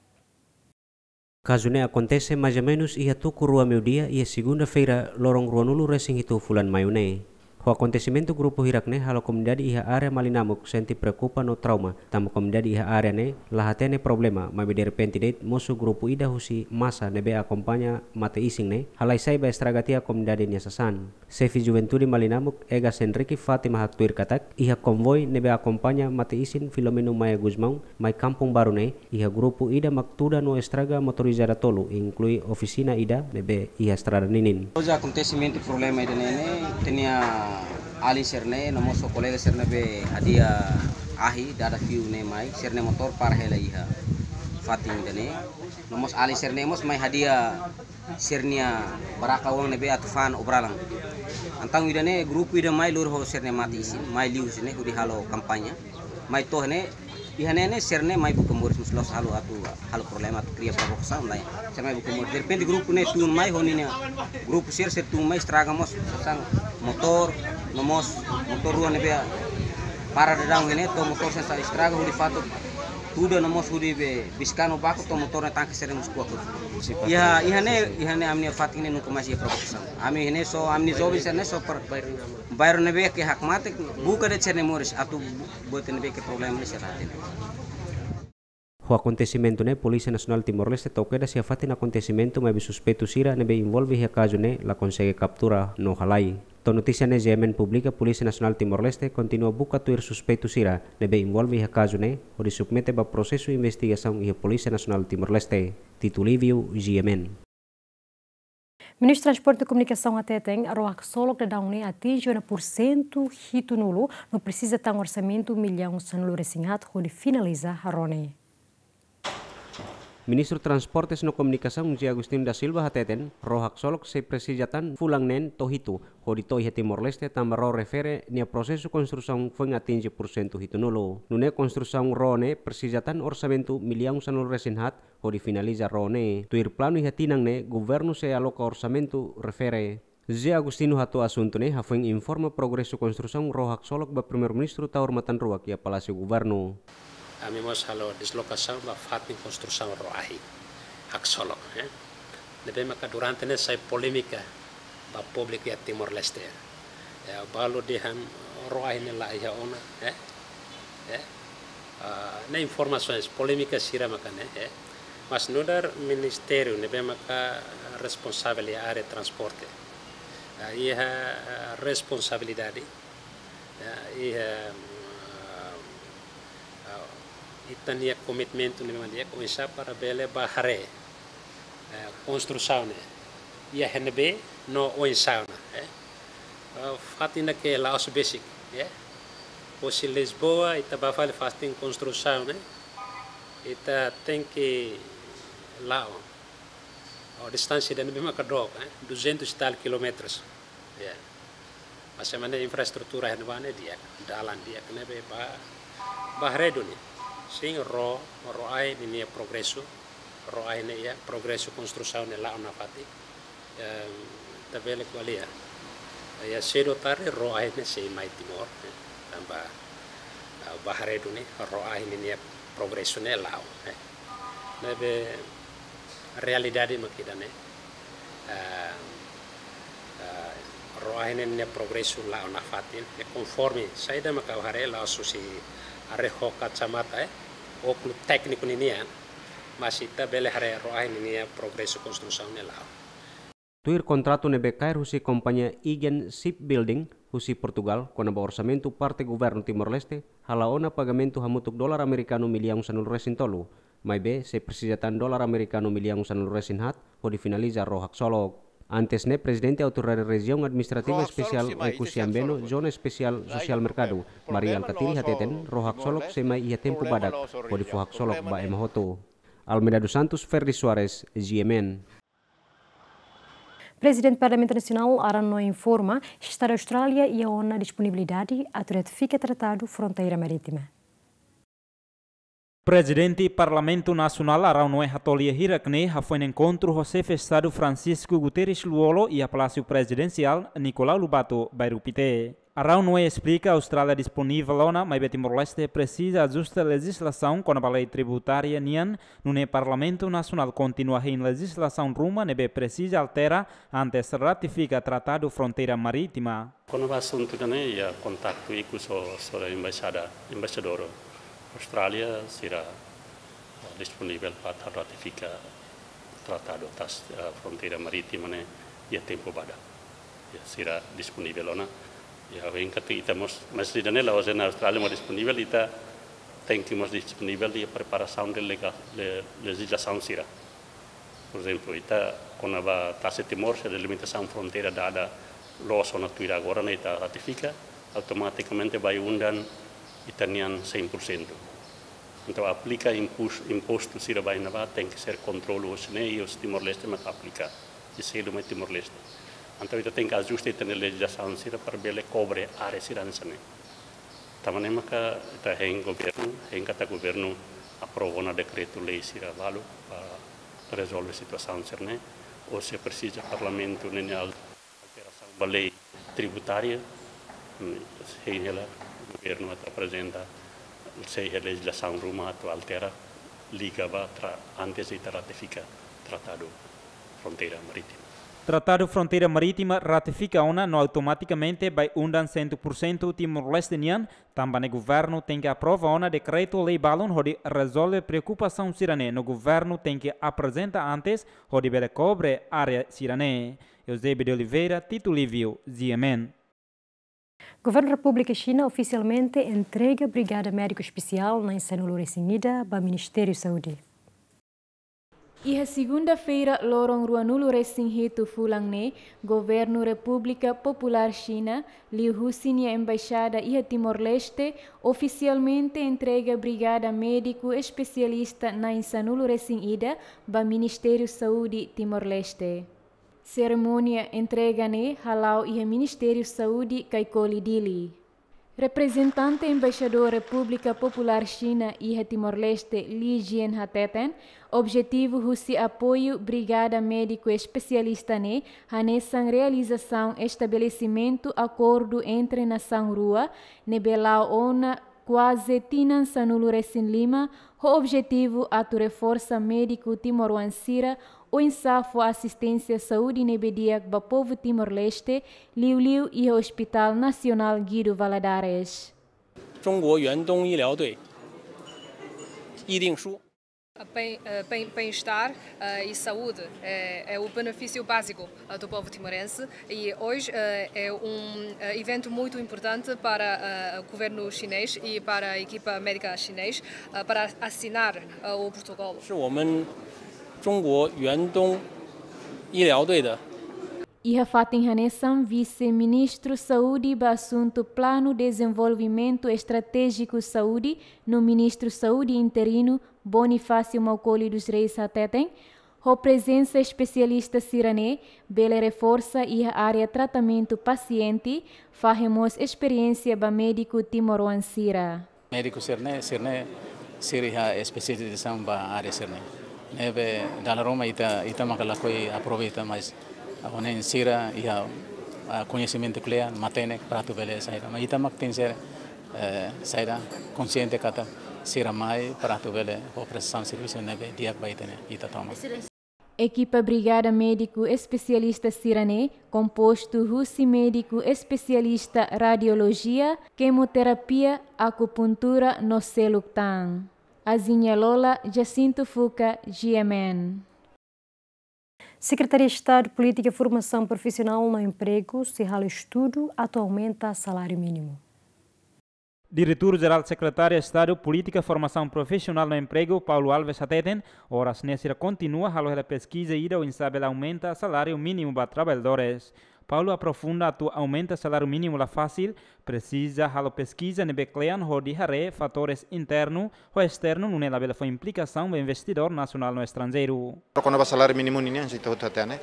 Kazu ne'e akontese mais ou menus iha tuku rua meiudia iha segunda-feira, loron ruanulu resin hitu fulan Maiu ne'e. Ho akontesimentu, grupu hirak ne'e halo komunidade iha área Malinamuk sente preokupa no trauma, tanba komunidade iha área ne'e la hatene problema, maibé derrepente de'it mosu grupu ida husi masa ne'ebé akompaña mate-isin ne'e halai sai ba estraga tiha komunidade nia sasán. Xefe Juventude Malinamuk, Egas Henrique, Fátima haktuir katak, iha konvoi ne'ebé akompaña mate-isin Filomeno Maia Gusmão mai Kampung Baru ne'e, iha grupu ida mak tuda no estraga motorizada tolu, inklui ofisina ida ne'ebé iha estrada ninin. Oja akontesimentu problema ida-ne'e ne'e, ita-nia alin sira-ne'e, no mós kolega sira ne'ebé hadi'a ahi, dada fiu ne'e mai, sira-nia motór para hela iha fatin ida-ne'e. No mós alin sira-ne'e mós mai hadi'a sira-nia baraka-oan ne'ebé atu fa'an obralan. Entaun ida-ne'e grupu ida mai lori ho sira-nia mate-isin, mai liu husi ne'e hodi halo kampaña. Mai to'o ne'e, iha ne'e ne'e sira-ne'e mai buka moris mós la'ós halo atu halo problema atu kria provokasaun lae. Sira mai buka moris. Derrepente grupu ne'e tun mai ho ninia grupu sira, sira tun mai estraga mós sasán motór, no mós motór rua ne'ebé para daudaun ne'e, to'o motór sira estraga hodi fatuk tuda no mós hodi be biskanu baku to'o motór ne'e tanke sira mós kuak. Iha, iha ne'e, iha ne'e ami-nia fatin ne'e nunka mais iha provokasaun. Ami ne'e só, ami-nia joven sira-ne'e só para bairru ne'ebé ke hakmatek, buka de'it sira-nia moris, atu buat ne'ebé ke problema ne'e sira hatene. Ho akontesimentu ne'e, Polísia Nasionál Timor-Leste to'o kedas iha fatin akontesimentu, maibé suspeitu sira ne'ebé envolve iha kazu ne'e la konsege kaptura no halai. To'o notísia ne'e G M N publika, Polísia Nasionál Timor-Leste kontinua buka tuir suspeitu sira ne'ebé envolve iha kazu ne'e, hodi submete ba prosesu investigasaun iha Polísia Nasionál Timor-Leste. Tito Livio, G M N. Ministru Transporte no Komunikasaun hateten, ró haksolok daudaun ne'e atinje ona pursentu hitunulu, no presiza tan orsamentu millaun sanulu resin haat hodi finaliza ró ne'e. Ministru Transportes no Komunikasaun José Agostinho da Silva hateten, ró haksolok sei presiza tan fulan neen to'o hitu, hodi to'o iha Timor-Leste tanba ró refere nia prosesu konstrusaun foin atinje pursentu hitunulu. Nune'e konstrusaun ró ne'e presiza tan orsamentu millaun sanulu-resin-haat hodi finaliza ró ne'e. Tuir planu iha tinan ne'e, governu sei aloka orsamentu refere. José Agostinho hato'o asuntu ne'e hafoin informa progresu konstrusaun ró haksolok ba Primeiru-Ministru Taur Matan Ruak iha Palásiu Governu. Ami mós halo deslokasaun ba fatin konstrusaun ró ahi haksolok, eh. Ne'ebé maka durante ne'e sai polémika ba públiku iha Timor-Leste. Ya, balu dehan ró ahi ne'e la iha ona, eh. Eh. Ah, ne'e informasaun polémika sira maka ne'e, eh. Mas nu'udar ministériu ne'ebé maka responsavel iha área transporte. Ah, iha, ah, responsabilidade. Ya, iha, ah, ah, ita-nia komitmentu ne'ebé mak di'ak oinsá para bele bá haree, eh, konstrusaun ne'e iha ne'ebé no oinsá ona, eh. Ah, fatin ne'e ke la'ós besik, eh. Husi Lisboa ita bá fali fatin konstrusaun ne'e, ita tenke la'o. Oh, distánsia ida ne'ebé maka dook, eh, duzentos e tal quilómetros. Ya. Mas ema nia infraestrutura iha ne'ebá ne'e di'ak, dalan di'ak ne'ebé bá, bá haree duni. Sin, ró, ró ahi ninia progresu, ró ahi ne'e iha progresu konstrusaun ne'e la'o nafatin. Em, ita bele ko'alia. Ya, sedu tarde ró ahi ne'e sei mai Timor, eh, tanba, ah, bá haree duni, ró ahi ninia progresu ne'e la'o, eh. Ne'ebé realidade mak ida-ne'e. Ah, ah, ró ahi ne'e nia progresu la'o nafatin, eh, konforme saida mak ha'u haree la'ós husi haree ho kacamata, eh, ókulu tékniku ninian, mas ita bele haree ró ahi ninia progresu konstrusaun ne'e la'o. Tuir kontratu ne'ebé kaer husi kompañia Aegean Shipbuilding husi Portugal kona-ba orsamentu parte governu Timor-Leste, hala'o ona pagamentu hamutuk dolar amerikanu millaun sanulu-resin-tolu, maibé sei presiza tan dolar amerikanu millaun sanulu-resin-haat hodi finaliza ró haksolok. Antes ne'e, Prezidente Autoridade Rejiaun Administrativa Espesiál Oekusi Ambeno, Zona Espesiál Sosiál Merkadu, Mari Alkatiri hateten, ró haksolok sei mai iha tempu badak hodi fó haksolok ba ema hotu. Almeida dos Santos, Ferdi Soares, G M N. Prezidente Parlamentu Nasionál, Arão Noé, informa Estadu Austrália iha ona disponibilidade atu ratifika Tratadu Fronteira Marítima. Prezidente Parlamentu Nasionál, Arão Noé, hato'o lia hirak-ne'e hafoin enkontru ho Xefe Estadu Francisco Guterres Lú-Olo iha Palásiu Prezidensiál Nicolau Lobato, Bairru Pité. Arão Noé esplika, Austrália disponivel ona, maibé Timor-Leste presiza ajusta lejizlasaun kona-ba lei tributária nian, nune'e Parlamentu Nasionál kontinua hein lejizlasaun ruma ne'ebé presiza altera antes ratifika Tratadu Fronteira Marítima. Kona-ba asuntu ida-ne'e, iha kontaktu ikus ho, ho embaixada, embaixadór Austrália, sira disponivel para ratifika tratadu atas, eh, fronteira marítima ne'e iha tempu badak. Ya, sira disponivel ona. Ya, ha'u hein katak ita mós, mas ida-ne'e la'ós dehan Austrália mós disponivel, ita tenke mós disponivel iha preparasaun de lega-, le-, lejizlasaun sira. Por ezemplu, ita kona-ba tasi Timor, se delimitasaun fronteira dada loos ona tuir agora ne'e ita ratifika, automatikamente ba iha undan ita-nian sein pursentu. Entaun aplika impus-, impostu sira ba iha ne'ebá tenke ser kontrolu husi ne'e, i husi Timor-Leste maka aplika. I selu mai Timor-Leste. Entaun ita tenke ajusta ita-nia lejizlasaun sira para bele kobre área sira hanesan ne'e. Tanba ne'e maka ita hein governu, hein katak governu aprova ona dekretu-lei sira balu para rezolve situasaun sira-ne'e. Ou se presiza Parlamentu ne'e nia al-, alterasaun ba lei tributária, hmm, hein hela governu atu aprezenta, sei iha lejizlasaun ruma atu altera, liga ba tra-, antes ita ratifika Tratadu Fronteira Marítima. Tratadu Fronteira Marítima ratifika ona no automatikamente ba iha undan cem por cento Timor-Leste nian, tanba ne'e governu tenke aprova ona dekretu-lei balun hodi rezolve preokupasaun sira-ne'e no governu tenke aprezenta antes hodi bele kobre área sira-ne'e. Eusébio de Oliveira, Tito Lívio, G M N. Governu Repúblika Xina ofisialmente entrega Brigada Médiku Espesiál na'in sanulu-resin-ida ba Ministériu Saúde. Iha segunda-feira, loron ruanulu-resin-hitu fulan ne'e, Governu Repúblika Populár Xina, liuhusi nia embaixada iha Timor-Leste, ofisialmente entrega Brigada Médiku Espesialista na'in sanulu-resin-ida ba Ministériu Saúde Timor-Leste. Serimónia entrega ne'e hala'o iha Ministériu Saúde Kaikoli, Dili. Reprezentante Embaixadór Repúblika Populár Xina iha Timor-Leste, Li Jian, hateten, objetivu husi apoiu Brigada Médiku Espesialista ne'e hanesan realizasaun estabelesimentu akordu entre nasaun rua ne'ebé la'o ona kuaze tinan sanulu-resin-lima, ho objetivu atu reforsa médiku timoroan sira oinsá fó asisténsia saúde ne'ebé di'ak ba povu Timor-Leste, liuliu iha Hospital Nasionál Guido Valadares. 中国远东医疗队议定书。 Bem, eh, bem, bem-estar, eh, e saúde é, é o benefício básico, eh, do povo timorense e hoje, eh, é um, eh, evento muito importante para, eh, o governo chinês e para a equipa médica chinês, eh, para assinar, eh, o protocolo. 是我们中国远东医疗队的。 Iha fatin hanesan, Vise-Ministru Saúde ba asuntu Planu Dezenvolvimentu Estratéjiku Saúde no Ministru Saúde interinu, Bonifácio Maukoli dos Reis, hateten, ho prezensa espesialista sira-ne'e bele reforsa iha área tratamentu pasiente, fahe mós esperiénsia ba médiku timoroan sira. Médiku sira-ne'e, sira-ne'e, sira iha espesializasaun ba área sira-ne'e. Ne'ebé dala ruma ita, ita maka lakohi aproveita, mas agora ne'e sira iha, ah, koñesimentu kle'an, matenek para atu bele saida. Mas ita mak tenke ser, eh, saida, konsiente katak sira mai para atu bele fó prestasaun servisu ne'ebé di'ak ba ita-nia, ita tomak. Ekipa Brigada Médiku Espesialista sira-ne'e kompostu husi médiku espesialista radiolojia, kemoterapia, akupuntura no seluk tan. Azinia Lola, Jacinto Fuca, G M N. Sekretaria Estadu Polítika Formasaun Profisionál no Empregu sei halo estudu atu aumenta saláriu mínimu. Diretór Jerál Sekretaria Estadu Polítika Formasaun Profisionál no Empregu, Paulo Alves, hateten, oras ne'e sira kontinua halo hela peskiza ida oinsá bele aumenta saláriu mínimu ba traballadores. Paulo aprofunda atu aumenta saláriu mínimu la fasil, presiza halo peskiza ne'ebé kle'an hodi haree fatores internu ho esternu, nune'e labele fó implikasaun ba investidór nasionál no estranjeiru. Kona-ba saláriu mínimu nian, se ita hotu hatene,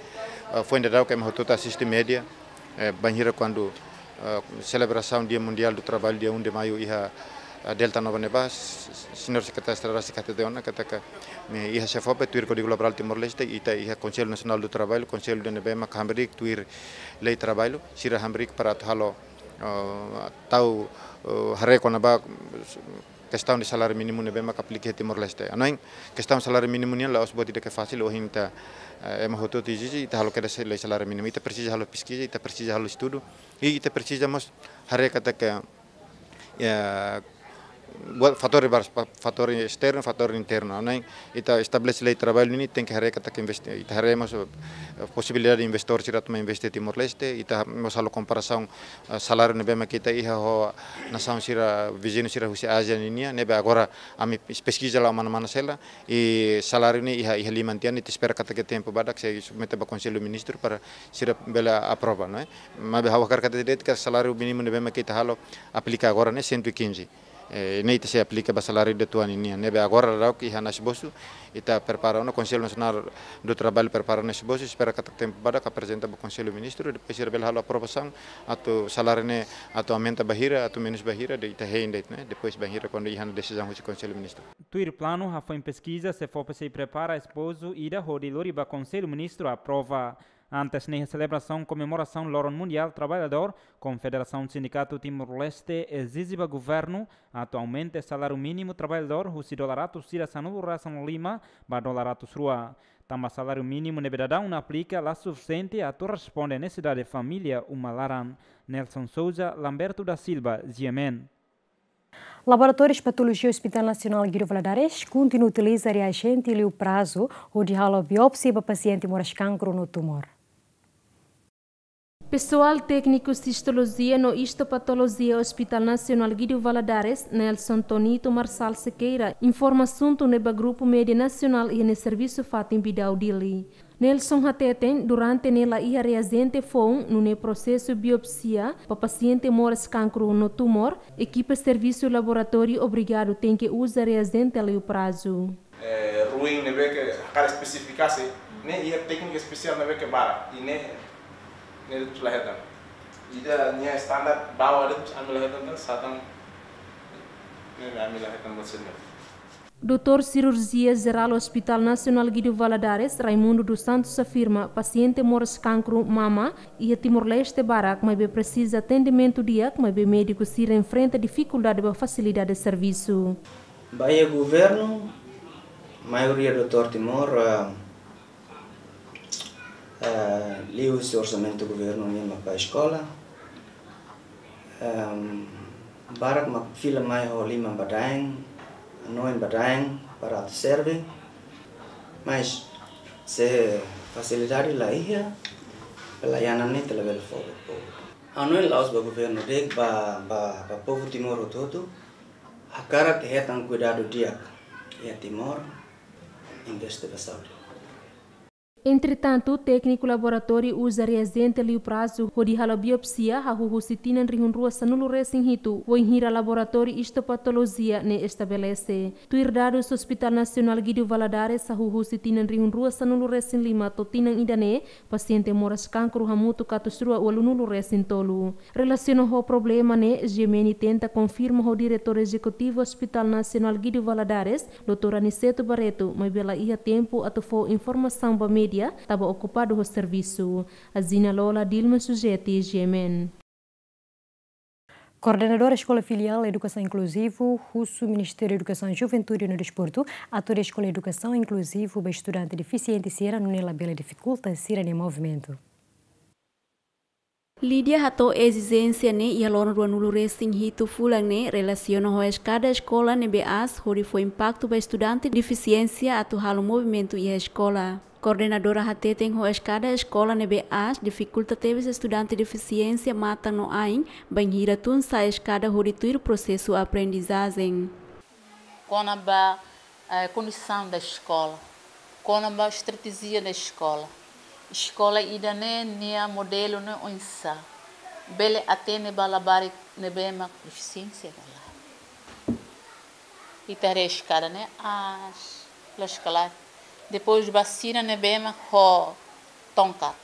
eh, foin daudauk ema hotu asiste média, eh, bainhira kuandu, eh, selebrasaun Dia Mundiál do Trabalho, dia um de maio, iha, eh, Delta Nova ne'ebá, s-, s-, señór Sekretáriu Estadu rasik hatete ona katak, ne'e iha SEFOPE, tuir Kódigu Laborál Timor-Leste, ita iha Konsellu Nasionál do Trabalho, konsellu ida ne'ebé mak hamriik tuir lei traballu, sira hamriik para atu halo, eh, tau, eh, haree kona-ba kestaun de saláriu mínimu ne'ebé mak aplika iha Timor-Leste. Hanoin, kestaun saláriu mínimu nian la'ós buat ida ke fasil, ohin ita, eh, ema hotu-hotu ezije, ita halo kedas lei saláriu mínimu. Ita presiza halo peskiza, ita presiza halo estudu, i ita presiza mós haree katak, eh, buat fatór barak, fa-, fatór esternu, fatór internu. Hanoin, ita estabelese lei traballu nian, tenke haree katak investi-, ita haree mós, eh, posibilidade de investór sira atu mai investe Timor-Leste, ita mós halo komparasaun, eh, saláriu ne'ebé mak ita iha ho nasaun sira, viziñu sira husi Ázia ninian, ne'ebé agora ami peskiza la'o mana-mana sei la, i saláriu ne'e iha, iha liman tiha, ita espera katak iha tempu badak sei submete ba Konsellu Ministru para sira bele aprova, não é? Maibé ha'u hakarak hatete de'it katak saláriu mínimu ne'ebé mak ita halo aplika agora ne'e cento e quinze. Eh, ne'e ita sei aplika ba saláriu ida tuan nian. Ne'ebé agora daudauk iha ona esbosu, ita prepara ona, Konsellu Nasionál do Traballu prepara ona esbosu, espera katak tempu badak aprezenta ba Konsellu Ministru, depois sira bele halo aprovasaun, atu saláriu ne'e, atu aumenta ba hira, atu menus ba hira, depois ita hein de'it, ne'e? Depois bainhira kuandu iha ona desizaun husi Konsellu Ministru. Tuir planu, hafoin peskiza, SEFOPE sei prepara esbosu ida hodi lori ba Konsellu Ministru aprova. Antes ne'e, selebrasaun komemorasaun Loron Mundiál Traballadór, Konfederasaun Sindikatu Timor-Leste ezije ba governu atu aumenta saláriu mínimu traballadór husi dolar atus ida sanulu-resin-lima ba dolar atus rua. Tanba saláriu mínimu ne'ebé daudaun aplika la sufisiente atu responde nesesidade família uma laran. Nelson Souza, Lamberto da Silva, G M N. Laboratóriu Patolojia Hospital Nasionál Guido Valadares kontinua utiliza reajente liu prazu hodi halo biópsia ba pasiente moras kankru no tumór. Pesoál tékniku sistolojia no istopatolojia Hospital Nasionál Guido Valadares, Nelson Tonito Marçal Sequeira, informa asuntu ne'e ba grupu média nasionál iha ne'e servisu fatin Bidau Dili. Nelson hateten, durante ne'e la iha reajente foun, nune'e prosesu biopsia ba pasiente moras kankru no tumór, ekipa servisu laboratóriu obrigadu tenke uza reajente liu prazu. Eh, ruin ne'ebé ke hakarak espesifikasi, ne'e iha téknika espesiál ne'ebé ke barak, i ne'e, ne'e la hetan. Ida-ne'e standar bawah de'it, ami la hetan, tan satan, ne'e ami la hetan buat sendiri. Doutór Sirurjia Jerál Hospital Nasionál Guido Valadares, Raimundo dos Santos afirma, pasiente moras kankru mama iha Timor-Leste barak, maibé presiza atendimentu di'ak, maibé médiku sira enfrenta difikuldade ba fasilidade servisu. Ba iha governu, maioria doutór Timor, ah, ah, liuhusi orsamentu governu nian mak ba eskola. Ehm, barak mak fila mai ho liman badaen, hanoin badaen para atu serve. Mas se fasilidade la iha, pelayanan ne'e ita labele fó ba povu. Hanoin la'ós ba governu de'it, ba, ba, ba povu Timor hotu-hotu. Hakarak hetan kuidadu di'ak iha Timor, investe ba saúde. Entretantu, tékniku laboratóriu uza reajente liu prazu hodi halo biopsia hahú husi tinan rihun rua sanulu resin hitu, wainhira laboratóriu istopatolojia ne'e estabelese. Tuir dadus Hospital Nasionál Guido Valadares, hahú husi tinan rihun rua sanulu resin lima to'o tinan ida-ne'e, pasiente moras kankru hamutuk atus rua ualunulu resin tolu. Relasiona ho problema ne'e, G M N tenta konfirma ho Diretór Ezekutivu Hospital Nasionál Guido Valadares, doutór Aniceto Barreto, maibé la iha tempu atu fó informasaun ba média, taba okupadu ho servisu. Azina Lola, Dilma Sujeti, G M N. Koordenadora Eskola Filiál Edukasaun Inkluzivu husu Ministériu Edukasaun, Juventude no Desportu, atu harii eskola edukasaun inkluzivu ba estudante defisiente sira, nune'e labele difikulta sira-nia movimentu. Lídia hato'o ezijénsia ne'e iha loron ruanulu resin hitu fulan ne'e relasiona ho eskada eskola ne'ebé aas hodi fó impaktu ba estudante defisiénsia atu halo movimentu iha eskola. Koordenadora hateten ho eskada eskola ne'ebé aas difikulta tebes estudante defisiénsia matan no ain bainhira tun sa'e eskada hodi tuir prosesu aprendizajen. Kona-ba, eh, kondisaun da eskola, kona-ba estratéjia da eskola. Eskola ida-ne'e nia modelu ne'e oinsá, bele atende ba labarik ne'ebé mak defisiénsia ka lae. Ita haree eskada ne'e aas, loos ka lae. Depois ba sira ne'ebé mak ho tongkat.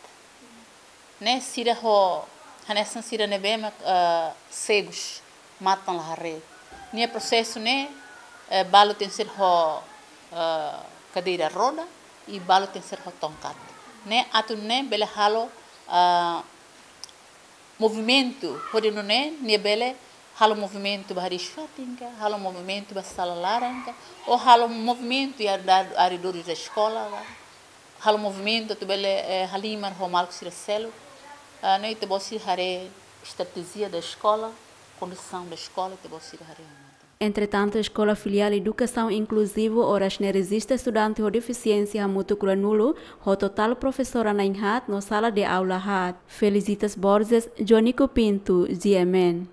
Ne'e sira ho, hanesan sira ne'ebé mak, eh, segus, matan la haree. Nia prosesu ne'e, eh, balu tenke ser ho, eh, kadeira roda, i balu tenke ser ho tongkat. Ne'e atu nune'e bele halo, eh, movimentu, hodi nune'e nia bele halo movimentu ba hariis fatin ka, halo movimentu ba sala laran ka, ou halo movimentu iha arredor da eskola ka. Halo movimentu atu bele, eh, halimar ho maluk sira seluk. Ah, ne'e ita-boot sira haree estratéjia da eskola, kondisaun da eskola, ita-boot sira haree. Entretantu, Eskola Filiál Edukasaun Inkluzivu oras ne'e rejista estudante ho defisiénsia hamutuk ruanulu, ho totál profesora na'in haat no sala de aula haat. Felicitas Borges, Jonico Pinto, G M N.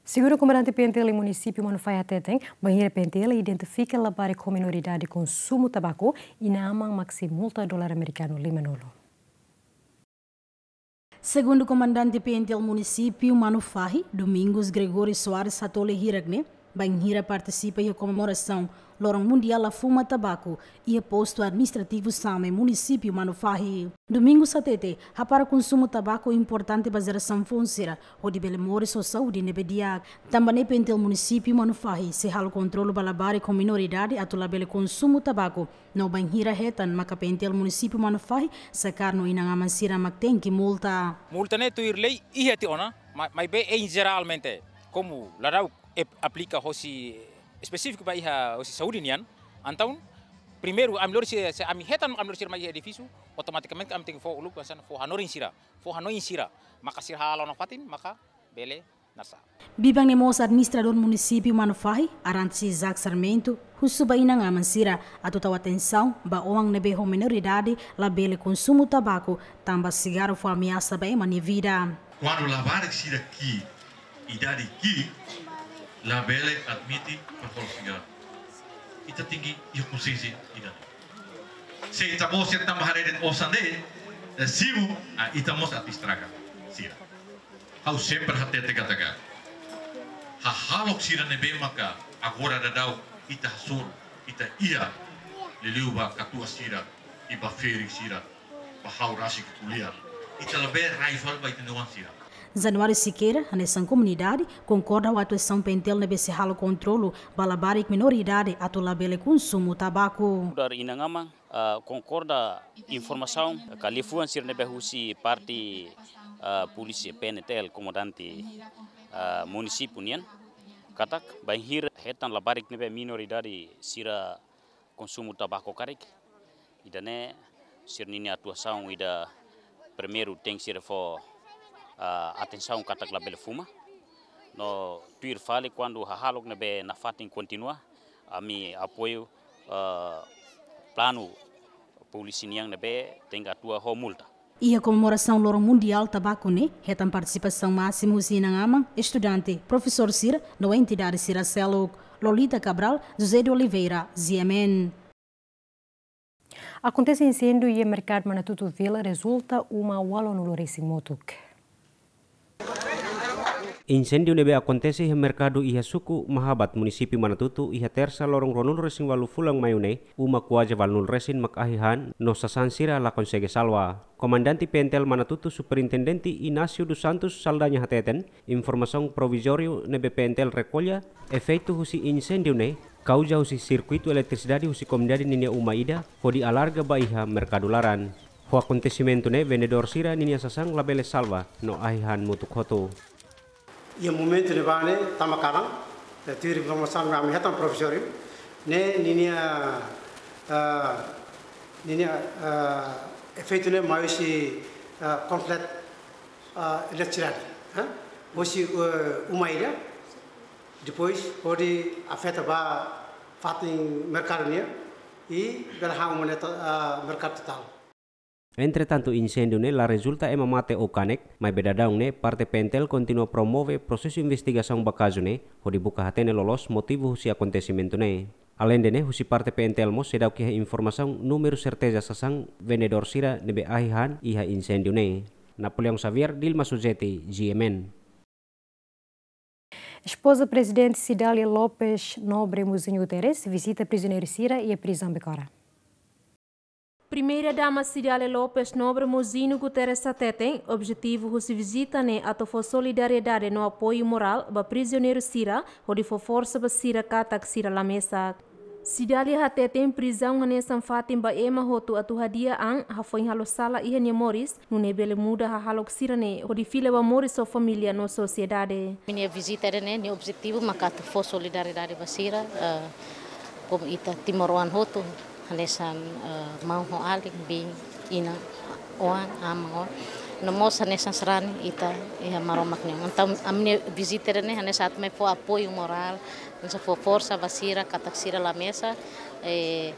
Segundu komandante P N T L iha munisípiu Manufahi hateten, bainhira P N T L identifika labarik ho minoridade konsumu tabaku, inan-aman mak sei multa dolar amerikanu limanulu. Segundu komandante P N T L munisípiu Manufahi, Domingos Gregório Soares hato'o lia hirak ne'e, bainhira partisipa iha komemorasaun Loron Mundiál la Fuma Tabaku, iha postu administrativu Same, munisípiu Manufahi. Domingos hateten, hapara konsumu tabaku importante ba jerasaun foun sira, hodi bele moris ho saúde ne'ebé di'ak. Tanba ne'e P N T L munisípiu Manufahi sei halo kontrolu ba labarik ho minoridade atu labele konsumu tabaku. No bainhira hetan maka P N T L munisípiu Manufahi, sakar no inan-aman sira mak tenke multa. Multa ne'e tuir lei iha tiha ona, ma-, maibé em geralmente, komu la da'uk ep-, aplika hosi espesífiku ba iha hosi saúde nian, entaun primeiru ami lori se, se ami hetan ami lori sira mai iha edifísiu, automatikamente ami tenke fó uluk hanesan fó hanorin sira, fó hanoin sira, maka sira hala'o nafatin, maka bele Biban ne'e mós administradór munisípiu Manufahi, Arantes Isaac Sarmento, husu ba inan-aman sira atu tau atensaun ba oan ne'ebé ho menoridade labele konsumu tabaku, tanba sigarru fó ameasa ba ema nia vida. Kuandu labarik sira ki'ik, idade ki'ik, labele admite para hola sigarru. Ita tenke iha konsiénsia ida-ne'e. Se ita-boot sira tanba haree de'it osan de'it, eh, simu, ah, ita mós atu estraga sira. Ha'u sempre hatete katak hahalok sira ne'ebé maka agora daudaun ita hasoru, ita iha, liuliu ba katuas sira, i ba ferik sira, ba ha'u rasik ko'alia. Ita labele rai fali ba ita-nia oan sira. Januário Sequeira, hanesan komunidade, konkorda ho atuasaun PNTL ne'ebé sei halo kontrolu ba labarik menoridade atu labele konsumu tabaku. Nu'udar inan-aman, ah, konkorda informasaun ka liafuan sira ne'ebé husi parte, ah, polísia PNTL, komandante, ah, munisípiu nian, katak bainhira hetan labarik ne'ebé menoridade sira konsumu tabaku karik, ida-ne'e sira-nia atuasaun ida primeiru tenke sira fó, ah, atensaun katak labele fuma. No tuir fali kuandu hahalok ne'ebé nafatin kontinua, ami apoiu, ah, planu polísia nian ne'ebé tenke atua ho multa. Iha komemorasaun Loron Mundiál Tabaku ne'e, hetan partisipasaun másimu husi inan-aman, estudante, profesór sira, no entidade sira seluk. Lolita Cabral, José de Oliveira, G M N. Akontese inséndiu iha Merkadu Manatutu Vila rezulta uma ualunulu resin motuk. Inséndiu ne'ebé akontese iha merkadu iha suku Mahabat, munisípiu Manatutu, iha Tersa, loron ruanulu resin ualu fulan Maiu ne'e, uma kuaze ualunulu resin mak ahi han, no sasán sira la konsege salva. Komandante PNTL Manatutu, Superintendente Inácio dos Santos Saldanha hateten, informasaun provizóriu ne'ebé PNTL rekolla, efeitu husi inséndiu ne'e kauza husi sirkuitu eletrisidade husi komunidade ninia uma ida, hodi alarga ba iha merkadu laran. Ho akontesimentu ne'e, vendedór sira ninia sasán labele salva, no ahi han motuk hotu. Iha momentu ne'ebá ne'e, tama kalan, eh, tuir informasaun ami hetan provizóriu, ne'e ninia, ah, ninia, ah, efeitu ne'e mai husi, ah, konslet, ah, eletrisidade, eh? Husi, eh, uma ida, depois hodi afeta ba fatin merkadu nian, i bele han uma ne'e to-, ah, merkadu totál. Entretantu, inséndiu ne'e la rezulta ema mate ou kanek, maibé daudaun ne'e parte PNTL kontinua promove prosesu investigasaun ba kazu ne'e, hodi buka hatene loloos motivu husi akontesimentu ne'e. Aleinde ne'e, husi parte PNTL mós seidauk iha informasaun númeru serteza sasán vendedór sira ne'ebé ahi han iha inséndiu ne'e. Napoleão Xavier, Dilma Suzeti, G M N. Espoza Prezidente Cidália Lopes Nobre Mozinho Guterres vizita prizioneiru sira iha prizaun Becora. Primeira-Dama Cidália Lopes Nobre Mozinho Guterres hateten, objetivu husi vizita ne'e atu fó solidariedade no apoiu morál ba prizioneiru sira, hodi fó forsa ba sira katak sira la mesak. Cidália hateten prizaun hanesan fatin ba ema hotu atu hadi'a an hafoin halo sala iha nia moris, nune'e bele muda hahalok sira-ne'e hodi fila ba moris ho família no sosiedade. Ami-nia vizita ida-ne'e, nia objetivu maka atu fó solidariedade ba sira, eh, komu ita timoroan hotu, hanesan, eh, maun ho alin, biin, inan, oan, aman, oan. No mós hanesan sarani ita iha Maromak nian. Entaun, ami-nia vizita ida-ne'e hanesan atu mai fó apoiu morál, hanesan fó forsa ba sira, katak sira la mesak, eh,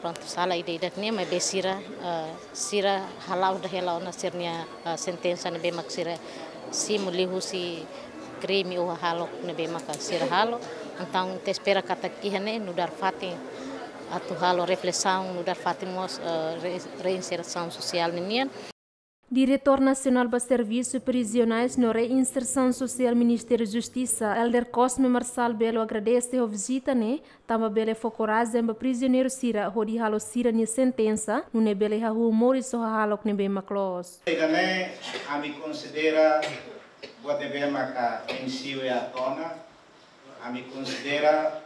prontu, sala ida-idak ne'e, maibé sira, eh, sira hala'o dahela ona sira-nia, eh, sentensa ne'ebé mak sira simu liuhusi krime ou hahalok ne'ebé maka sira halo. Entaun, ita espera katak iha ne'e nu'udar fatin atu halo reflesaun, nu'udar fatin mós, eh, re-, reinsersaun sosiál ninian. Diretór Nasionál ba Servisu Prizionais no Reinsersaun Sosiál Ministériu Justisa, Elder Cosme Marçal Belo agradese ho vizita ne'e, tanba bele fó korajen ba prizioneiru sira hodi halo sira-nia sentensa, nune'e bele hahú moris ho hahalok ne'ebé mak loos. Ida-ne'e ami konsidera buat ne'ebé maka M C U atu ona, ami konsidera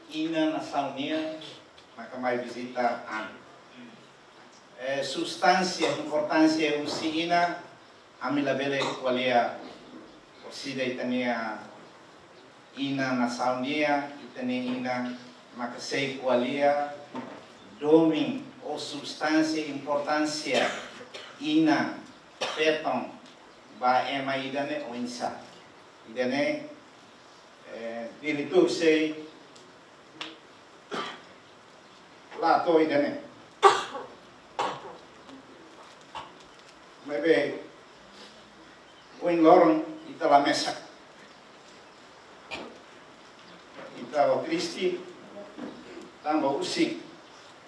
inan nasaun nian maka mai vizita ami. Eh, substánsia, importánsia husi inan, ami labele ko'alia, orsida ita-nia inan nasaun nian, ita-nia inan maka sei ko'alia domin ou substánsia, importánsia inan, feton, ba ema ida-ne'e oinsá. Ida-ne'e, eh, diretór sei la to'o ida-ne'e. Maibé, ohin loron ita la mesak. Ita triste, tanba husik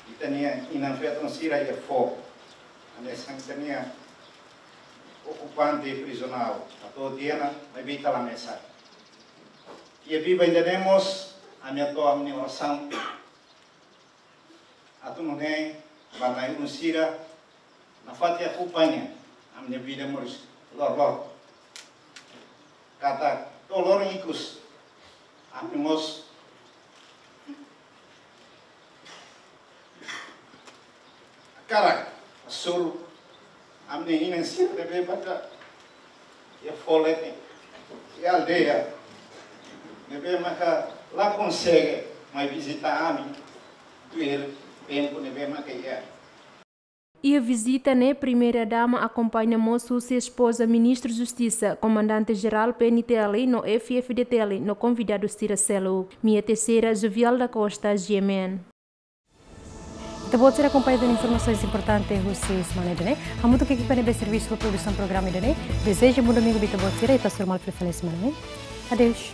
ita-nia inan-feton sira iha foho. Hanesan ita-nia okupante prizionál, atu tiha ona, maibé ita la mesak. Iha biban ida-ne'e mós, ami hato'o ami-nia orasaun atu nune'e ba na'i-ulun sira nafatin akompaña ami-nia vida moris loroloron. Katak to'o loron ikus, ami mós hakarak hasoru ami-nia inan sira ne'ebé maka iha foho leten, iha aldeia, ne'ebé maka la konsege mai vizita ami tuir tempu ne'ebé maka iha. Iha vizita ne'e, Primeira Dama akompaña mós husi espoza Ministru Justisa, Komandante Jerál P N T L no F F D T L no konvidadu sira seluk. Mia Teixeira, Jovial da Costa, G M N. Ita-boot sira akompaña de'it informasaun importante husi semana ida-ne'e. Hamutuk ho ekipa ne'ebé servisu ba produsaun programa ida-ne'e, dezeja bom domingu ba ita-boot sira, ita hasoru malu fali iha semana ne'e. Adeus.